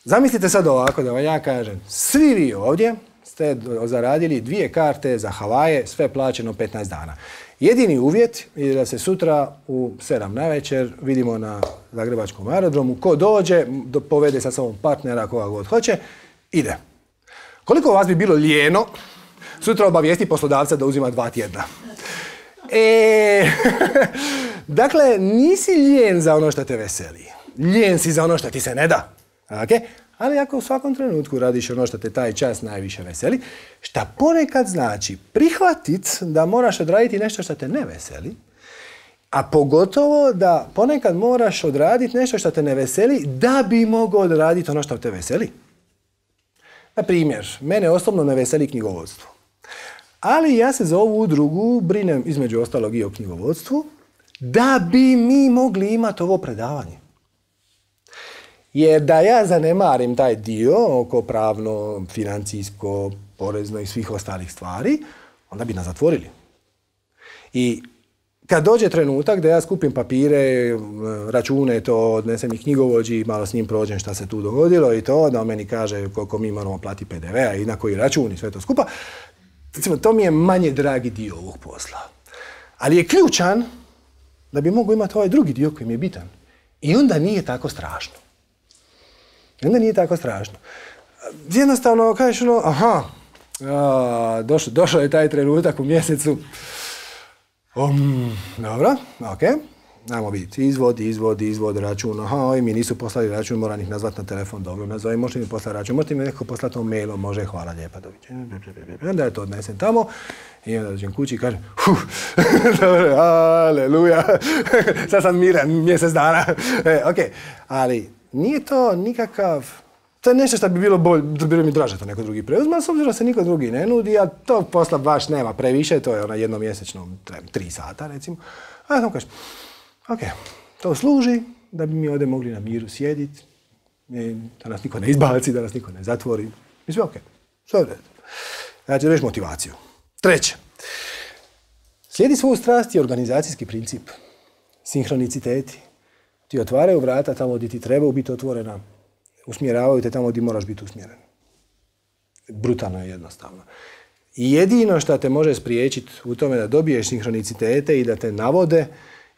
[SPEAKER 1] Zamislite sad ovako da vam ja kažem, svi vi ovdje ste zaradili 2 karte za Havaje, sve plaćeno 15 dana. Jedini uvjet je da se sutra u 7 navečer vidimo na Zagrebačkom aerodromu. Ko dođe, povede sa sobom partnera, koga god hoće, ide. Koliko vas bi bilo lijeno sutra obavijesti poslodavca da uzima 2 tjedna? Dakle, nisi lijen za ono što te veseli. Lijen si za ono što ti se ne da. Okay? Ali ako u svakom trenutku radiš ono što te taj čas najviše veseli, šta ponekad znači prihvatit da moraš odraditi nešto što te ne veseli, a pogotovo da ponekad moraš odraditi nešto što te ne veseli da bi mogao odraditi ono što te veseli. Na primjer, mene osobno ne veseli knjigovodstvo. Ali ja se za ovu udrugu brinem između ostalog i o knjigovodstvu da bi mi mogli imati ovo predavanje. Jer da ja zanemarim taj dio oko pravno, financijsko, porezno i svih ostalih stvari, onda bi nas zatvorili. I kad dođe trenutak da ja skupim papire, račune, to odnesem i knjigovođi, malo s njim prođem šta se tu dogodilo i to, da on meni kaže koliko mi moramo platiti PDV-a i na koji račun i sve to skupa, to mi je manje dragi dio ovog posla. Ali je ključan da bi mogu imati ovaj drugi dio koji mi je bitan. I onda nije tako strašno. Jednostavno kažeš došao je taj trenutak u mjesecu. Dobro, ok. Ajmo vidjeti, izvod, račun. Ovi mi nisu poslali račun, moram ih nazvati na telefon. Dobro, nazove, možete mi poslati račun, možete mi neko poslati mailom, može, hvala lijepa, doviđenja. Onda ja to odnesem tamo i onda dođem kući i kažem, dobro, aleluja, sad sam miran mjesec dana. Ok, ali nije to nikakav, to je nešto što bi bilo bolje, bilo mi draže to neko drugi preuzma, s obzirom da se niko drugi ne nudi, a tog posla baš nema previše, to je jednomjesečno 3 sata recimo. A ja sam kažem, ok, to služi da bi mi ovdje mogli na miru sjediti, da nas niko ne izbaci, da nas niko ne zatvori. I sve ok, sve u redu. Ja ću reći motivaciju. 3. Slijedi svoju strast i organizacijski princip. Sinhroniciteti. Ti otvaraju vrata tamo gdje ti trebaju biti otvorena, usmjeravaju te tamo gdje moraš biti usmjeren. Brutalno je jednostavno. I jedino što te može spriječiti u tome da dobiješ sinhronicitete i da te navode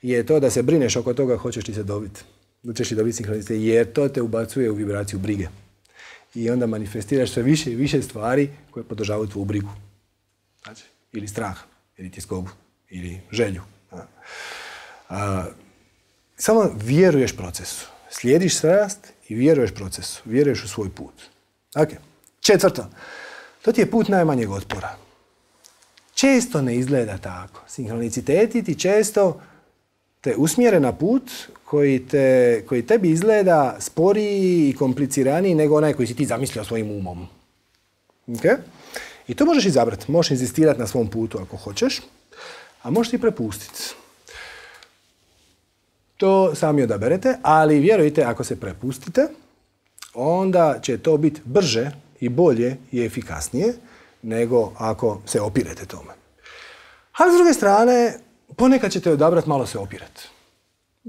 [SPEAKER 1] je to da se brineš oko toga hoćeš li se dobiti. Hoćeš li dobiti sinhronicitete, jer to te ubacuje u vibraciju brige. I onda manifestiraš sve više i više stvari koje podržavaju tvoju brigu. Znači, ili strah, ili tjeskobu, ili želju. Samo vjeruješ procesu. Slijediš strast i vjeruješ procesu. Vjeruješ u svoj put. Ok. 4. To ti je put najmanjeg otpora. Često ne izgleda tako. Sinhroniciteti ti često te usmjere na put koji tebi izgleda sporiji i kompliciraniji nego onaj koji si ti zamislio svojim umom. Okay? I to možeš izabrati. Možeš inzistirati na svom putu ako hoćeš, a možeš i prepustiti. To sami odaberete, ali vjerujte, ako se prepustite, onda će to biti brže i bolje i efikasnije nego ako se opirete tome. Ali s druge strane, ponekad ćete odabrati malo se opirati.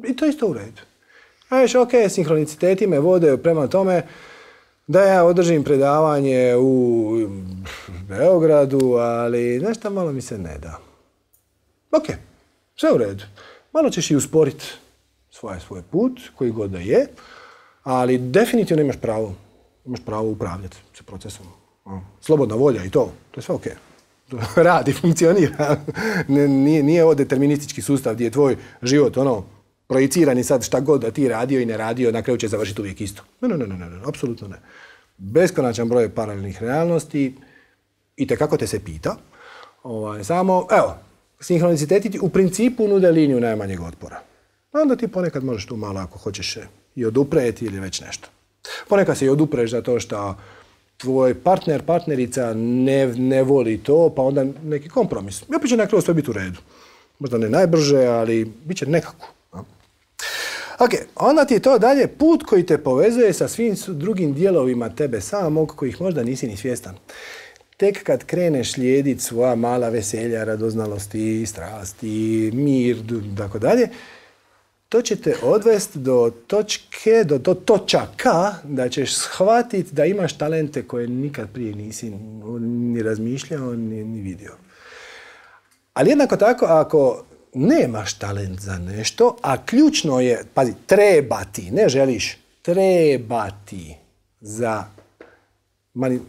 [SPEAKER 1] I to je isto u redu. Znači, ok, sinhroniciteti me vode prema tome da ja održim predavanje u Beogradu, ali nešto malo mi se ne da. Ok, sve u redu. Malo ćeš i usporiti svoj put, koji god da je, ali definitivno imaš pravo upravljati sa procesom. Slobodna volja i to je sve ok. Radi, funkcionira. Nije ovo deterministički sustav gdje je tvoj život projiciran i sad šta god da ti radio i ne radio, na kraju će završiti uvijek isto. Ne, apsolutno ne. Beskonačan broj paralelnih realnosti i tekako te se pita. Samo, sinhroniciteti ti u principu nude liniju najmanjeg otpora. Onda ti ponekad možeš tu malo, ako hoćeš, i odupreti ili već nešto. Ponekad se i odupreš zato što tvoj partnerica ne voli to, pa onda neki kompromis. I opet će na kraju sve biti u redu. Možda ne najbrže, ali bit će nekako. Ok, onda ti je to dalje put koji te povezuje sa svim drugim dijelovima tebe samog, kojih možda nisi ni svjestan. Tek kad kreneš slijediti svoja mala veselja, radoznalosti, strasti, mir, tako dalje, to će te odvesti do točaka da ćeš shvatiti da imaš talente koje nikad prije nisi ni razmišljao, ni vidio. Ali jednako tako, ako nemaš talent za nešto, a ključno je, pazi, trebati, ne želiš, trebati za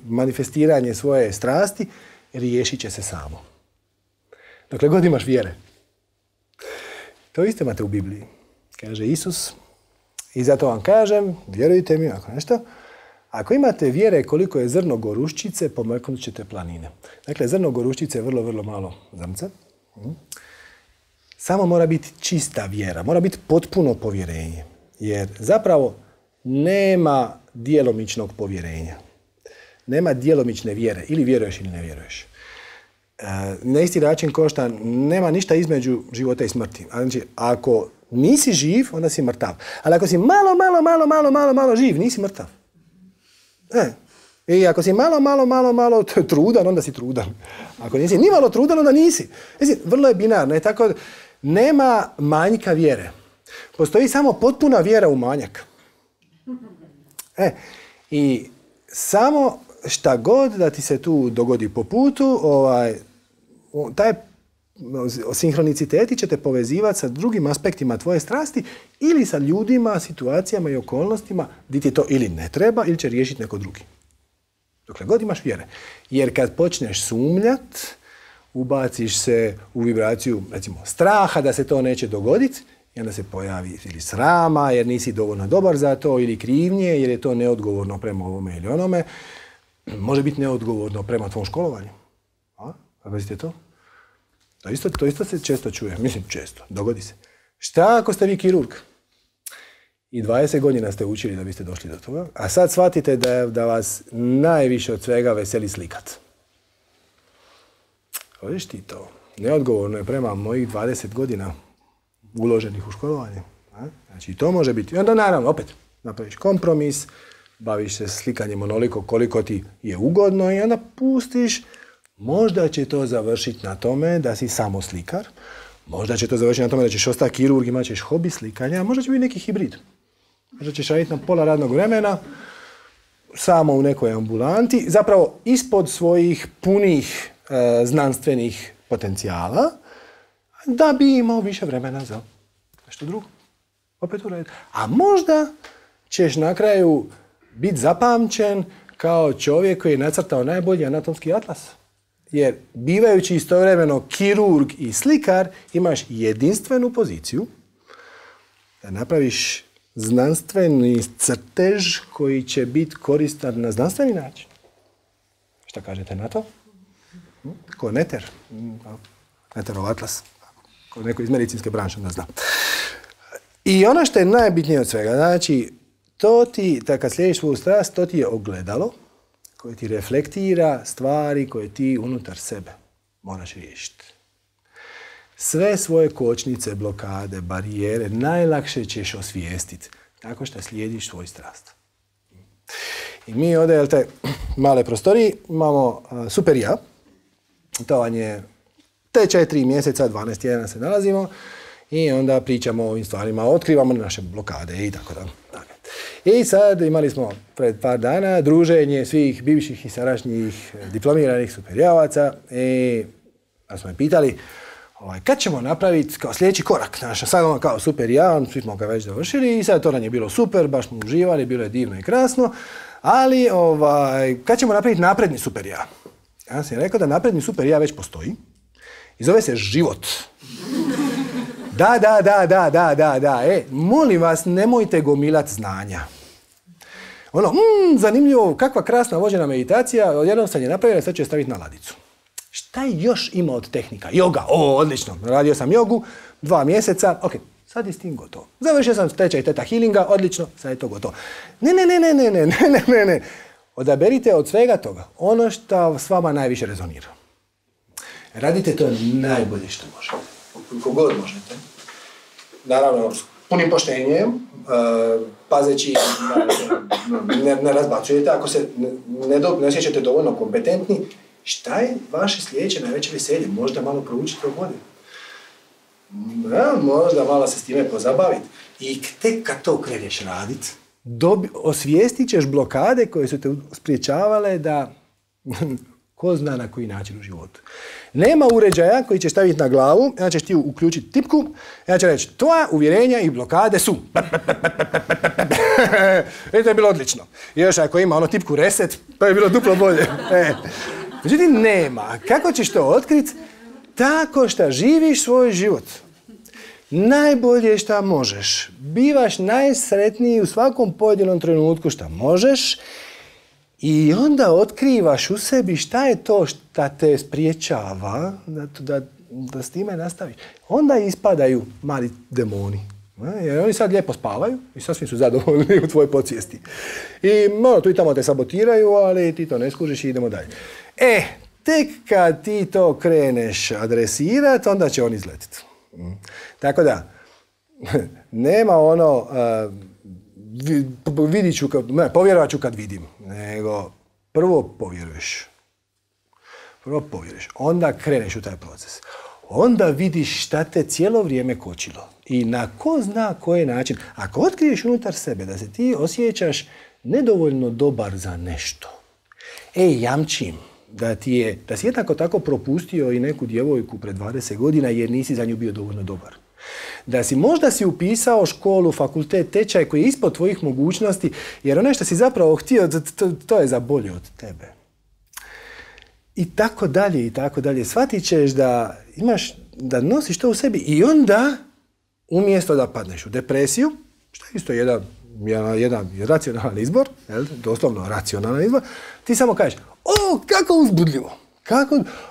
[SPEAKER 1] manifestiranje svoje strasti, riješit će se samo. Dokle god imaš vjere. To isto imate u Bibliji. Kaže Isus, i zato vam kažem, vjerujte mi, ako nešto, Ako imate vjere koliko je zrno goruščice, pomaknut ćete planine. Dakle, zrno goruščice je vrlo, vrlo malo zrnca. Samo mora biti čista vjera, mora biti potpuno povjerenje. Jer zapravo nema djelomičnog povjerenja. Nema djelomične vjere. Ili vjeruješ ili ne vjeruješ. Na isti način kao što nema ništa između života i smrti. Znači, ako nisi živ, onda si mrtav. Ali ako si malo živ, nisi mrtav. I ako si malo trudan, onda si trudan. Ako nisi ni malo trudan, onda nisi. Znači, vrlo je binarno. Tako, nema manjka vjere. Postoji samo potpuna vjera u manjak. I samo šta god da ti se tu dogodi po putu, taj sinhroniciteti će te povezivati sa drugim aspektima tvoje strasti ili sa ljudima, situacijama i okolnostima gdje ti to ili ne treba ili će riješiti neko drugi. Dokle god imaš vjere. Jer kad počneš sumnjat, ubaciš se u vibraciju, recimo, straha da se to neće dogoditi i onda se pojavi ili srama jer nisi dovoljno dobar za to ili krivnje jer je to neodgovorno prema ovome ili onome. Može biti neodgovorno prema tvom školovanju. Pazite to? To isto se često čuje. Mislim, često. Dogodi se. Šta ako ste vi kirurg? I 20 godina ste učili da biste došli do toga, a sad shvatite da vas najviše od svega veseli slikat. Vidiš ti to? Neodgovorno je prema mojih 20 godina uloženih u školovanje. Znači, to može biti. I onda naravno, opet, napraviš kompromis, baviš se slikanjem onoliko koliko ti je ugodno i onda pustiš. Možda će to završiti na tome da si samo slikar. Možda će to završiti na tome da ćeš ostati kirurg, imat ćeš hobi slikanja. Možda će biti neki hibrid. Možda ćeš raditi na pola radnog vremena, samo u nekoj ambulanti, zapravo ispod svojih punih znanstvenih potencijala, da bi imao više vremena za nešto drugo. Opet uraditi. A možda ćeš na kraju biti zapamćen kao čovjek koji je nacrtao najbolji anatomski atlas. Jer bivajući istovremeno kirurg i slikar, imaš jedinstvenu poziciju da napraviš znanstveni crtež koji će biti koristan na znanstveni način. Šta kažete na to? Ko Neter? Neterov atlas. Ko neko iz medicinske branše da zna. I ono što je najbitnije od svega, znači, to ti, kad slijediš svoju strast, to ti je ogledalo koje ti reflektira stvari koje ti unutar sebe moraš riješiti. Sve svoje kočnice, blokade, barijere najlakše ćeš osvijestiti tako što slijediš svoj strast. I mi ovdje, jel te, male prostoriji, imamo super ja. To vam je te 4 mjeseca, 12 tjedana se nalazimo i onda pričamo o ovim stvarima, otkrivamo naše blokade i tako da. I sad imali smo pred par dana druženje svih bivših i sadašnjih diplomiranih superjavaca i pa smo je pitali kad ćemo napraviti kao sljedeći korak. Sad ono kao super javan, svi smo ga već završili i sad to nam je bilo super, baš smo uživali, bilo je divno i krasno, ali kad ćemo napraviti napredni super ja? Ja sam rekao da napredni super ja već postoji i zove se život. Da. Molim vas, nemojte gomilati znanja. Zanimljivo, kakva krasna vođena meditacija, odjednom sam je napravila, sad ću je staviti na ladicu. Šta je još ima od tehnika? Joga, odlično, radio sam jogu, 2 mjeseca, ok, sad je s tim gotovo. Završio sam tečaj Theta Healinga, odlično, sad je to gotovo. Ne. Odaberite od svega toga ono što s vama najviše rezonira. Radite to najbolje što možete. Koliko god možete. Naravno, s punim poštenjem, pazeći, ne razbacujete. Ako se ne osjećate dovoljno kompetentni, šta je vaše sljedeće najveće veselje? Možda malo proučite o godinu. Možda malo se s time pozabaviti. I tek kad to kreneš raditi, osvijestit ćeš blokade koje su te spriječavale da ko zna na koji način u životu. Nema uređaja koji ćeš staviti na glavu, onda ćeš ti uključiti tipku, ja ću reći, tvoja uvjerenja i blokade su. To je bilo odlično. I još ako ima ono tipku reset, to je bilo duplo bolje. Međutim, nema. Kako ćeš to otkriti? Tako što živiš svoj život. Najbolje što možeš. Bivaš najsretniji u svakom pojedinom trenutku što možeš I onda otkrivaš u sebi šta je to šta te spriječava da s time nastaviš. Onda ispadaju mali demoni. Jer oni sad lijepo spavaju i sasvim su zadovoljni u tvojoj podsvijesti. I tu i tamo te sabotiraju, ali ti to ne skužiš i idemo dalje. Tek kad ti to kreneš adresirati, onda će on izletiti. Tako da, nema povjerovat ću kad vidim, nego prvo povjeruješ. Onda kreneš u taj proces. Onda vidiš šta te cijelo vrijeme kočilo. I na ko zna koji način. Ako otkriješ unutar sebe da se ti osjećaš nedovoljno dobar za nešto, jamčim da si jednako tako propustio i neku djevojku pred 20 godina jer nisi za nju bio dovoljno dobar. Da si možda upisao školu, fakultet, tečaj koji je ispod tvojih mogućnosti, jer ono što si zapravo htio, to je za bolje od tebe. I tako dalje. Shvatit ćeš da nosiš to u sebi i onda, umjesto da padneš u depresiju, što je isto jedan racionalan izbor, doslovno racionalan izbor, ti samo kažeš, kako uzbudljivo,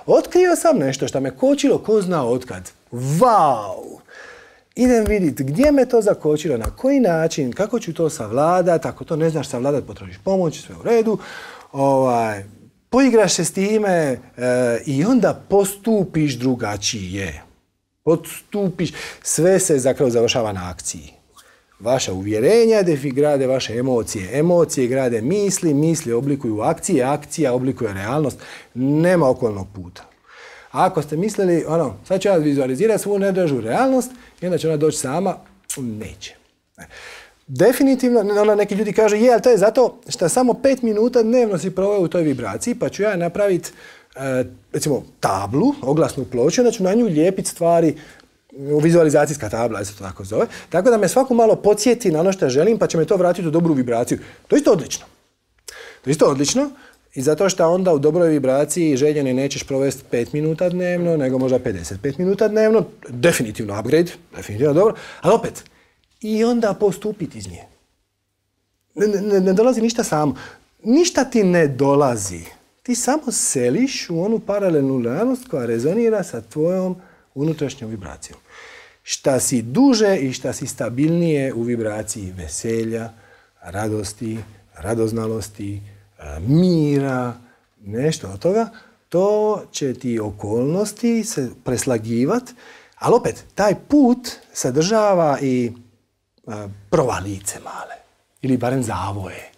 [SPEAKER 1] otkrio sam nešto što me kočilo, ko zna otkad. Vau! Idem vidjeti gdje me to zakočilo, na koji način, kako ću to savladati, ako to ne znaš savladati, potražiš pomoć, sve u redu, poigraš se s time i onda postupiš drugačije. Sve se zapravo završava na akciji. Vaša uvjerenja grade vaše emocije, emocije grade misli oblikuju akcije, akcija oblikuje realnost, nema okolnog puta. Ako ste mislili, sad ću ja vizualizirati svu nedražu realnost i onda će ona doći sama, neće. Definitivno, neki ljudi kažu, ali to je zato što samo 5 minuta dnevno si proveo u toj vibraciji, pa ću ja napraviti, recimo, tablu, oglasnu ploču, onda ću na nju lijepiti stvari, vizualizacijska tabla, se to tako zove, tako da me svako malo podsjeti na ono što želim, pa će me to vratiti u dobru vibraciju. To je isto odlično. I zato što onda u dobroj vibraciji željeni nećeš provesti 5 minuta dnevno, nego možda 55 minuta dnevno, definitivno upgrade, definitivno dobro, ali opet, i onda postupiti iz nje. Ne dolazi ništa samo. Ništa ti ne dolazi. Ti samo seliš u onu paralelnu realnost koja rezonira sa tvojom unutrašnjom vibracijom. Šta si duže i šta si stabilnije u vibraciji veselja, radosti, radoznalosti, mira, nešto od toga, to će ti okolnosti se preslagivati, ali opet, taj put sadržava i provalice male, ili barem zavoje.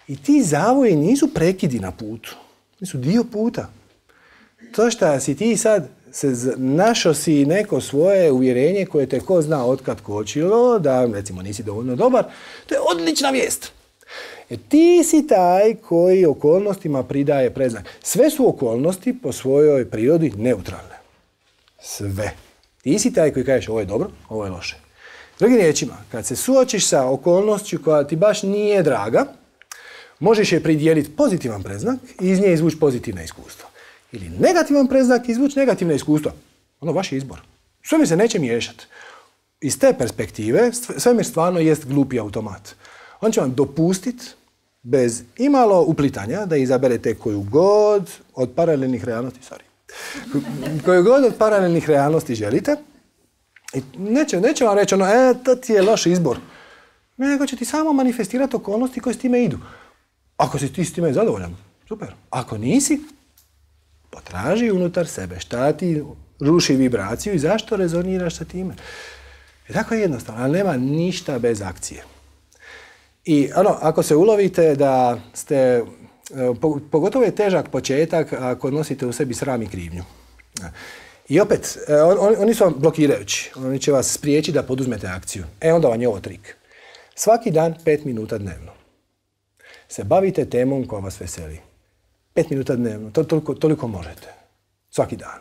[SPEAKER 1] I ti zavoji nisu prekidi na putu, nisu dio puta. To što si ti sad našao si neko svoje uvjerenje koje te ko zna otkad kočilo, da recimo nisi dovoljno dobar, to je odlična vijest. Ti si taj koji okolnostima pridaje predznak. Sve su okolnosti po svojoj prirodi neutralne. Sve. Ti si taj koji kažeš ovo je dobro, ovo je loše. Drugim riječima, kad se suočiš sa okolnošću koja ti baš nije draga, možeš je pridijeliti pozitivan predznak i iz nje izvući pozitivno iskustvo. Ili negativan predznak i izvući negativno iskustvo. Ono vaš izbor. Svemir se neće miješati. Iz te perspektive, svemir stvarno jest glupi automat. On će vam dopustiti, bez imalo uplitanja, da izaberete koju god od paralelnih realnosti želite. I neće vam reći to ti je loš izbor. Nego će ti samo manifestirati okolnosti koje s time idu. Ako si ti s time zadovoljan, super. Ako nisi, potraži unutar sebe šta ti ruši vibraciju i zašto rezoniraš sa time. Tako je jednostavno, ali nema ništa bez akcije. I ako se ulovite da ste, pogotovo je težak početak ako nosite u sebi sram i krivnju. I opet, oni su vam blokirajući, oni će vas spriječiti da poduzmete akciju. Onda vam je ovo trik. Svaki dan 5 minuta dnevno se bavite temom koja vas veseli. 5 minuta dnevno, toliko možete. Svaki dan.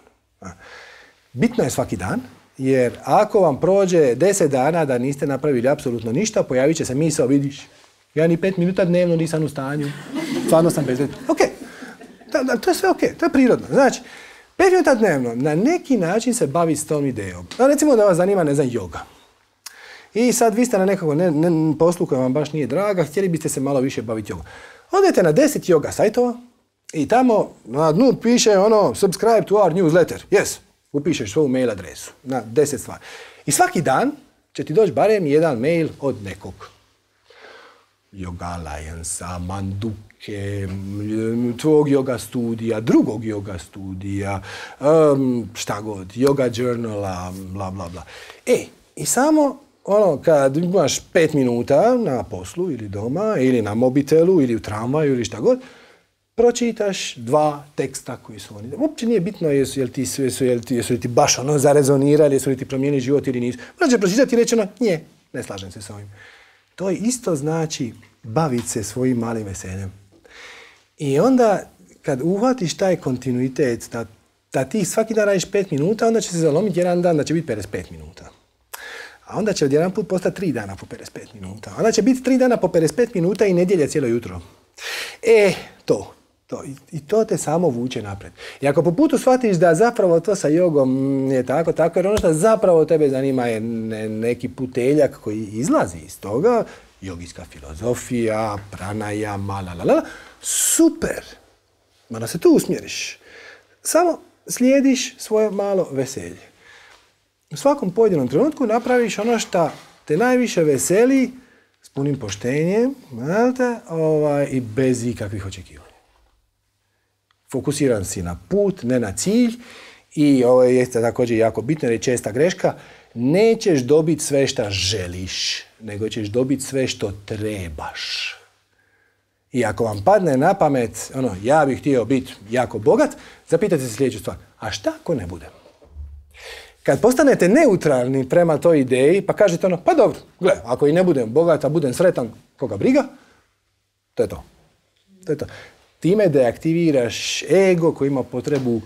[SPEAKER 1] Bitno je svaki dan, jer ako vam prođe 10 dana da niste napravili apsolutno ništa, pojavit će se misao, vidiš, ja ni 5 minuta dnevno nisam u stanju, stvarno sam bezvredan. Ok, to je sve ok, to je prirodno. Znači, 5 minuta dnevno na neki način se bavi s tom idejom. Recimo da vas zanima, joga. I sad vi ste na nekako poslu koja vam baš nije draga, htjeli biste se malo više baviti jogom. Odete na 10 yoga sajtova i tamo na dnu piše subscribe to our newsletter. Yes, upišeš svoju mail adresu na 10 stvari. I svaki dan će ti doći barem jedan mail od nekog. Yoga Alliance-a, Manduke, tvog yoga studija, drugog yoga studija, šta god, yoga journala, bla, bla, bla. I samo, kad imaš 5 minuta na poslu ili doma, ili na mobitelu, ili u tramvaju, ili šta god, pročitaš 2 teksta koji su oni. Uopće nije bitno jesu li ti baš zarezonirali, jesu li ti promijenili život ili nisu. Možeš pročitati i reći ne slažem se s ovim. To isto znači baviti se svojim malim veseljem. I onda kad uhvatiš taj kontinuitet, da ti svaki dan radiš 5 minuta, onda će se zalomiti jedan dan da će biti 55 minuta. A onda će odjedan put postati 3 dana po 55 minuta. Onda će biti 3 dana po 55 minuta i nedjelja cijelo jutro. I to te samo vuče naprijed. I ako po putu shvatiš da zapravo to sa jogom je tako, jer ono što zapravo tebe zanima je neki puteljak koji izlazi iz toga, jogijska filozofija, pranajama, super. Mora se tu usmjeriš. Samo slijediš svoje malo veselje. U svakom pojedinom trenutku napraviš ono što te najviše veseli s punim poštenjem i bez ikakvih očekivanja. Fokusiran si na put, ne na cilj i ovo je također jako bitno jer je česta greška. Nećeš dobiti sve što želiš, nego ćeš dobiti sve što trebaš. I ako vam padne na pamet, ja bih htio biti jako bogat, zapitajte se sljedeću stvar. A šta ako ne budem? Kad postanete neutralni prema toj ideji, pa kažete pa dobro, gle, ako i ne budem bogat, a budem sretan, koga briga, to je to. Time deaktiviraš ego koji ima potrebu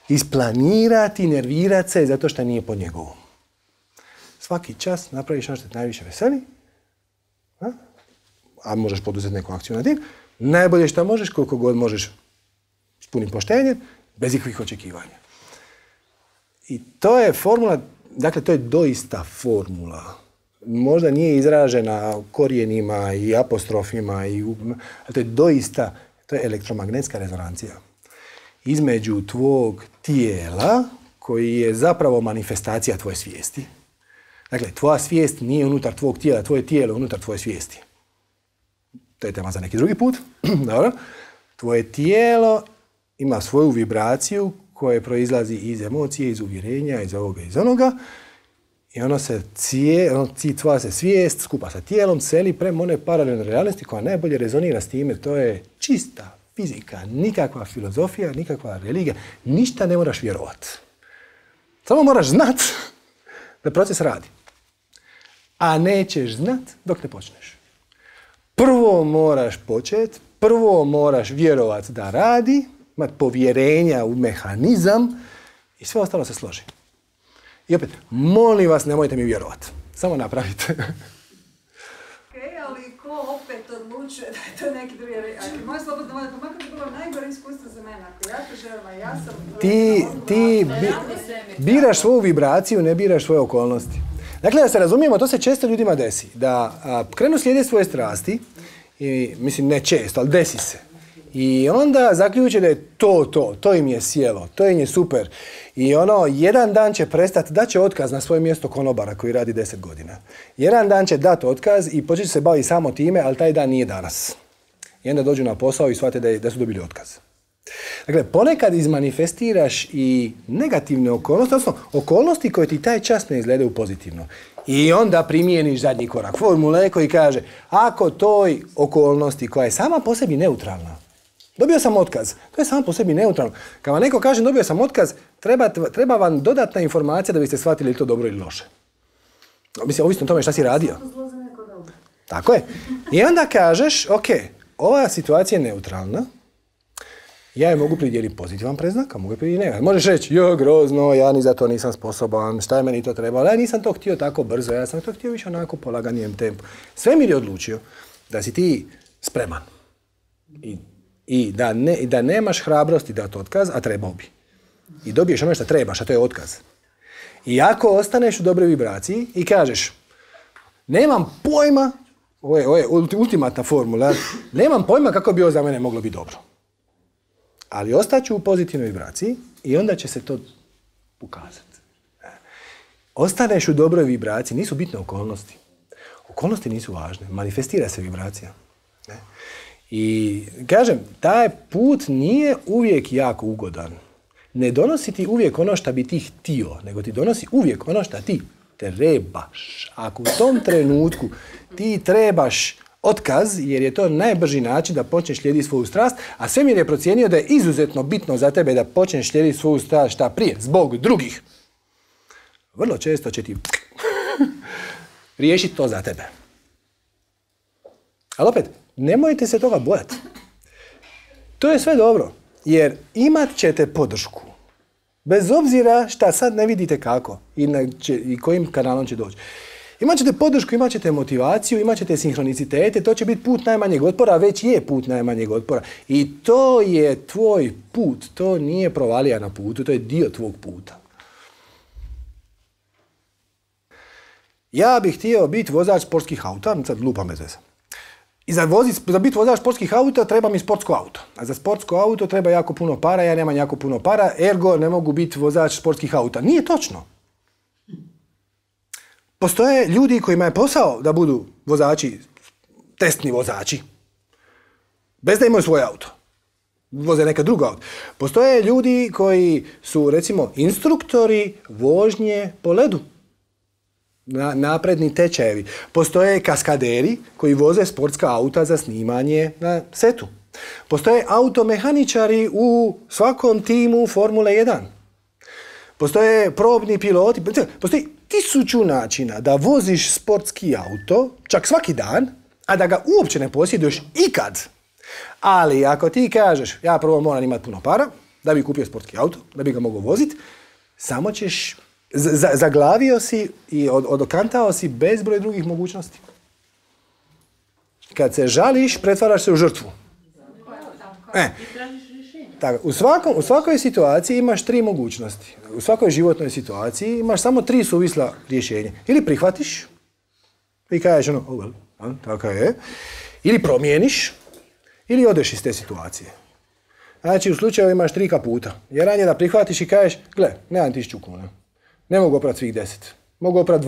[SPEAKER 1] isplanirati, nervirati se zato što nije pod njegovom. Svaki čas napraviš ono što te najviše veseli, a možeš poduzeti neku akciju na tim, najbolje što možeš, koliko god možeš s punim poštenjem, bez ikakvih očekivanja. I to je formula, dakle to je doista formula. Možda nije izražena korijenima i apostrofima, ali to je doista, to je elektromagnetska rezonancija. Između tvog tijela, koji je zapravo manifestacija tvoje svijesti. Dakle, tvoja svijest nije unutar tvog tijela, tvoje tijelo je unutar tvoje svijesti. To je tema za neki drugi put. Dobro. Tvoje tijelo ima svoju vibraciju koja proizlazi iz emocije, iz uvjerenja, iz ovoga, iz onoga. I tvoja se svijest skupa sa tijelom seli prema one paralelne realnosti koja najbolje rezonira s time. To je čista fizika, nikakva filozofija, nikakva religija. Ništa ne moraš vjerovati. Samo moraš znat da proces radi. A nećeš znat dok ne počneš. Prvo moraš početi, prvo moraš vjerovati da radi, imati povjerenja u mehanizam i sve ostalo se složi. I opet, molim vas, nemojte mi vjerovati. Samo napravite.
[SPEAKER 2] Ali ko opet odlučuje da je to neki drugi... Ako moje slobodno volje, pa makar bi bilo najgore iskustvo za mene. Ako ja to želim, a ja sam...
[SPEAKER 1] Ti biraš svoju vibraciju, ne biraš svoje okolnosti. Dakle, da se razumijemo, to se često ljudima desi. Da krenu slijediti svoje strasti, i, mislim ne često, ali desi se. I onda zaključe da je to im je sjelo, to im je super. I jedan dan će prestati, daće otkaz na svoje mjesto konobara koji radi 10 godina. Jedan dan će dati otkaz i početi se baviti samo time, ali taj dan nije danas. I onda dođu na posao i shvate da su dobili otkaz. Dakle, ponekad izmanifestiraš i negativne okolnosti, odnosno okolnosti koje ti taj čas ne izgledaju pozitivno. I onda primijeniš zadnji korak formule koji kaže, ako toj okolnosti koja je sama po sebi neutralna, dobio sam otkaz, to je samo po sebi neutralno. Kad vam neko kaže dobio sam otkaz, treba vam dodatna informacija da biste shvatili to dobro ili loše. Mislim, ovisno o tome šta si radio. Tako je. I onda kažeš, ok, ova situacija je neutralna, ja je mogu pridjeliti pozitivan predznak, a mogu je pridjeliti negativan. Možeš reći, grozno, ja ni za to nisam sposoban, šta je meni to trebalo, ja nisam to htio tako brzo, ja sam to htio više onako polaganijem tempu. Svemir je odlučio da si ti spreman i da nemaš hrabrosti dati otkaz, a trebao bi. I dobiješ ono što trebaš, a to je otkaz. I ako ostaneš u dobroj vibraciji i kažeš, nemam pojma ovo je ultimatna formula, nemam pojma kako bi ovo za mene moglo biti dobro. Ali ostaću u pozitivnoj vibraciji i onda će se to ukazati. Ostaneš u dobroj vibraciji, nisu bitne okolnosti. Okolnosti nisu važne, manifestira se vibracija. I kažem, taj put nije uvijek jako ugodan. Ne donosi ti uvijek ono što bi ti htio, nego ti donosi uvijek ono što ti trebaš. Ako u tom trenutku ti trebaš otkaz, jer je to najbrži način da počneš slijediti svoju strast, a svemir je procijenio da je izuzetno bitno za tebe da počneš slijediti svoju strast šta prije, zbog drugih. Vrlo često će ti riješiti to za tebe. Ali opet, nemojte se toga bojati. To je sve dobro, jer imat ćete podršku. Bez obzira šta sad ne vidite kako i kojim kanalom će doći. Imat ćete podršku, imat ćete motivaciju, imat ćete sinhronicitete, to će biti put najmanjeg otpora, već je put najmanjeg otpora. I to je tvoj put, to nije provalija na putu, to je dio tvog puta. Ja bih htio biti vozač sportskih auta, sad lupam bez veze. I za biti vozač sportskih auta treba mi sportsko auto. A za sportsko auto treba jako puno para, ja nemam jako puno para, ergo ne mogu biti vozač sportskih auta. Nije točno. Postoje ljudi kojima je posao da budu vozači, testni vozači, bez da imaju svoj auto. Voze neka druga auto. Postoje ljudi koji su, recimo, instruktori vožnje po ledu. Napredni tečajevi. Postoje kaskaderi koji voze sportska auta za snimanje na setu. Postoje automehaničari u svakom timu Formule 1. Postoje probni piloti. Postoji 1000 načina da voziš sportski auto, čak svaki dan, a da ga uopće ne posjeduješ ikad. Ali ako ti kažeš, ja prvo moram imati puno para, da bi kupio sportski auto, da bi ga mogao voziti, samo ćeš... Zaglavio si i odokantao si bezbroj drugih mogućnosti. Kad se žališ, pretvaraš se u žrtvu. U svakoj situaciji imaš 3 mogućnosti. U svakoj životnoj situaciji imaš samo 3 suvisla rješenja. Ili prihvatiš i kažeš tako je. Ili promijeniš, ili odeš iz te situacije. Znači, u slučaju imaš 3 kaputa. Jedan je da prihvatiš i kažeš, gle, nemam 1000 kuna. Ne mogu oprati svih 10. Mogu oprati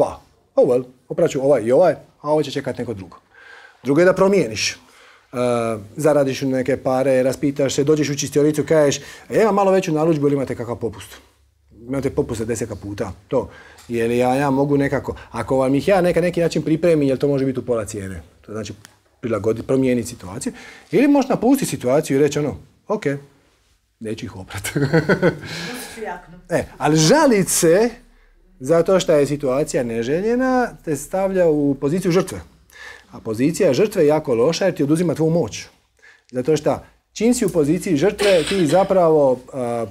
[SPEAKER 1] 2. Oprat ću ovaj i ovaj, a ovo će čekati neko drugo. Drugo je da promijeniš. Zaradiš neke pare, raspitaš se, dođeš u čistionicu, kažeš, imam malo veću narudžbu ili imate kakav popust? Imate popust 10 puta. To. Jer ja mogu nekako, ako vam ih ja neki način pripremim, jer to može biti u pola cijene. To znači prilagoditi, promijeniti situaciju. Ili možeš napustiti situaciju i reći ok, neću ih oprati. Ali žalit se zato što je situacija neželjena te stavlja u poziciju žrtve. A pozicija žrtve je jako loša jer ti oduzima tvoju moć. Zato što čim si u poziciji žrtve ti zapravo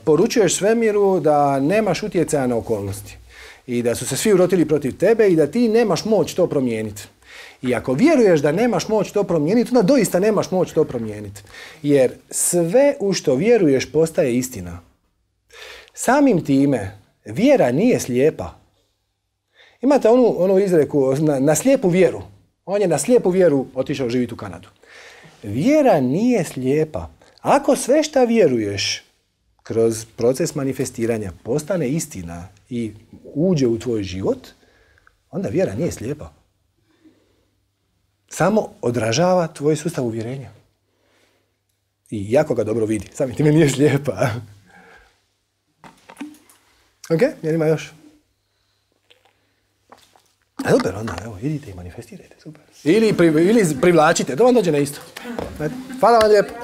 [SPEAKER 1] poručuješ svemiru da nemaš utjecaja na okolnosti. I da su se svi urotili protiv tebe i da ti nemaš moć to promijeniti. I ako vjeruješ da nemaš moć to promijeniti, onda doista nemaš moć to promijeniti. Jer sve u što vjeruješ postaje istina. Samim time, vjera nije slijepa. Imate onu izreku na slijepu vjeru. On je na slijepu vjeru otišao živjeti u Kanadu. Vjera nije slijepa. Ako sve šta vjeruješ kroz proces manifestiranja postane istina i uđe u tvoj život, onda vjera nije slijepa. Samo odražava tvoj sustav uvjerenja. I jako ga dobro vidi. Samim time nije slijepa. Ok, jel ima još? Super, onda, evo, idite i manifestirajte, super. Ili privlačite, to vam dođe na isto. Hvala vam lijepo.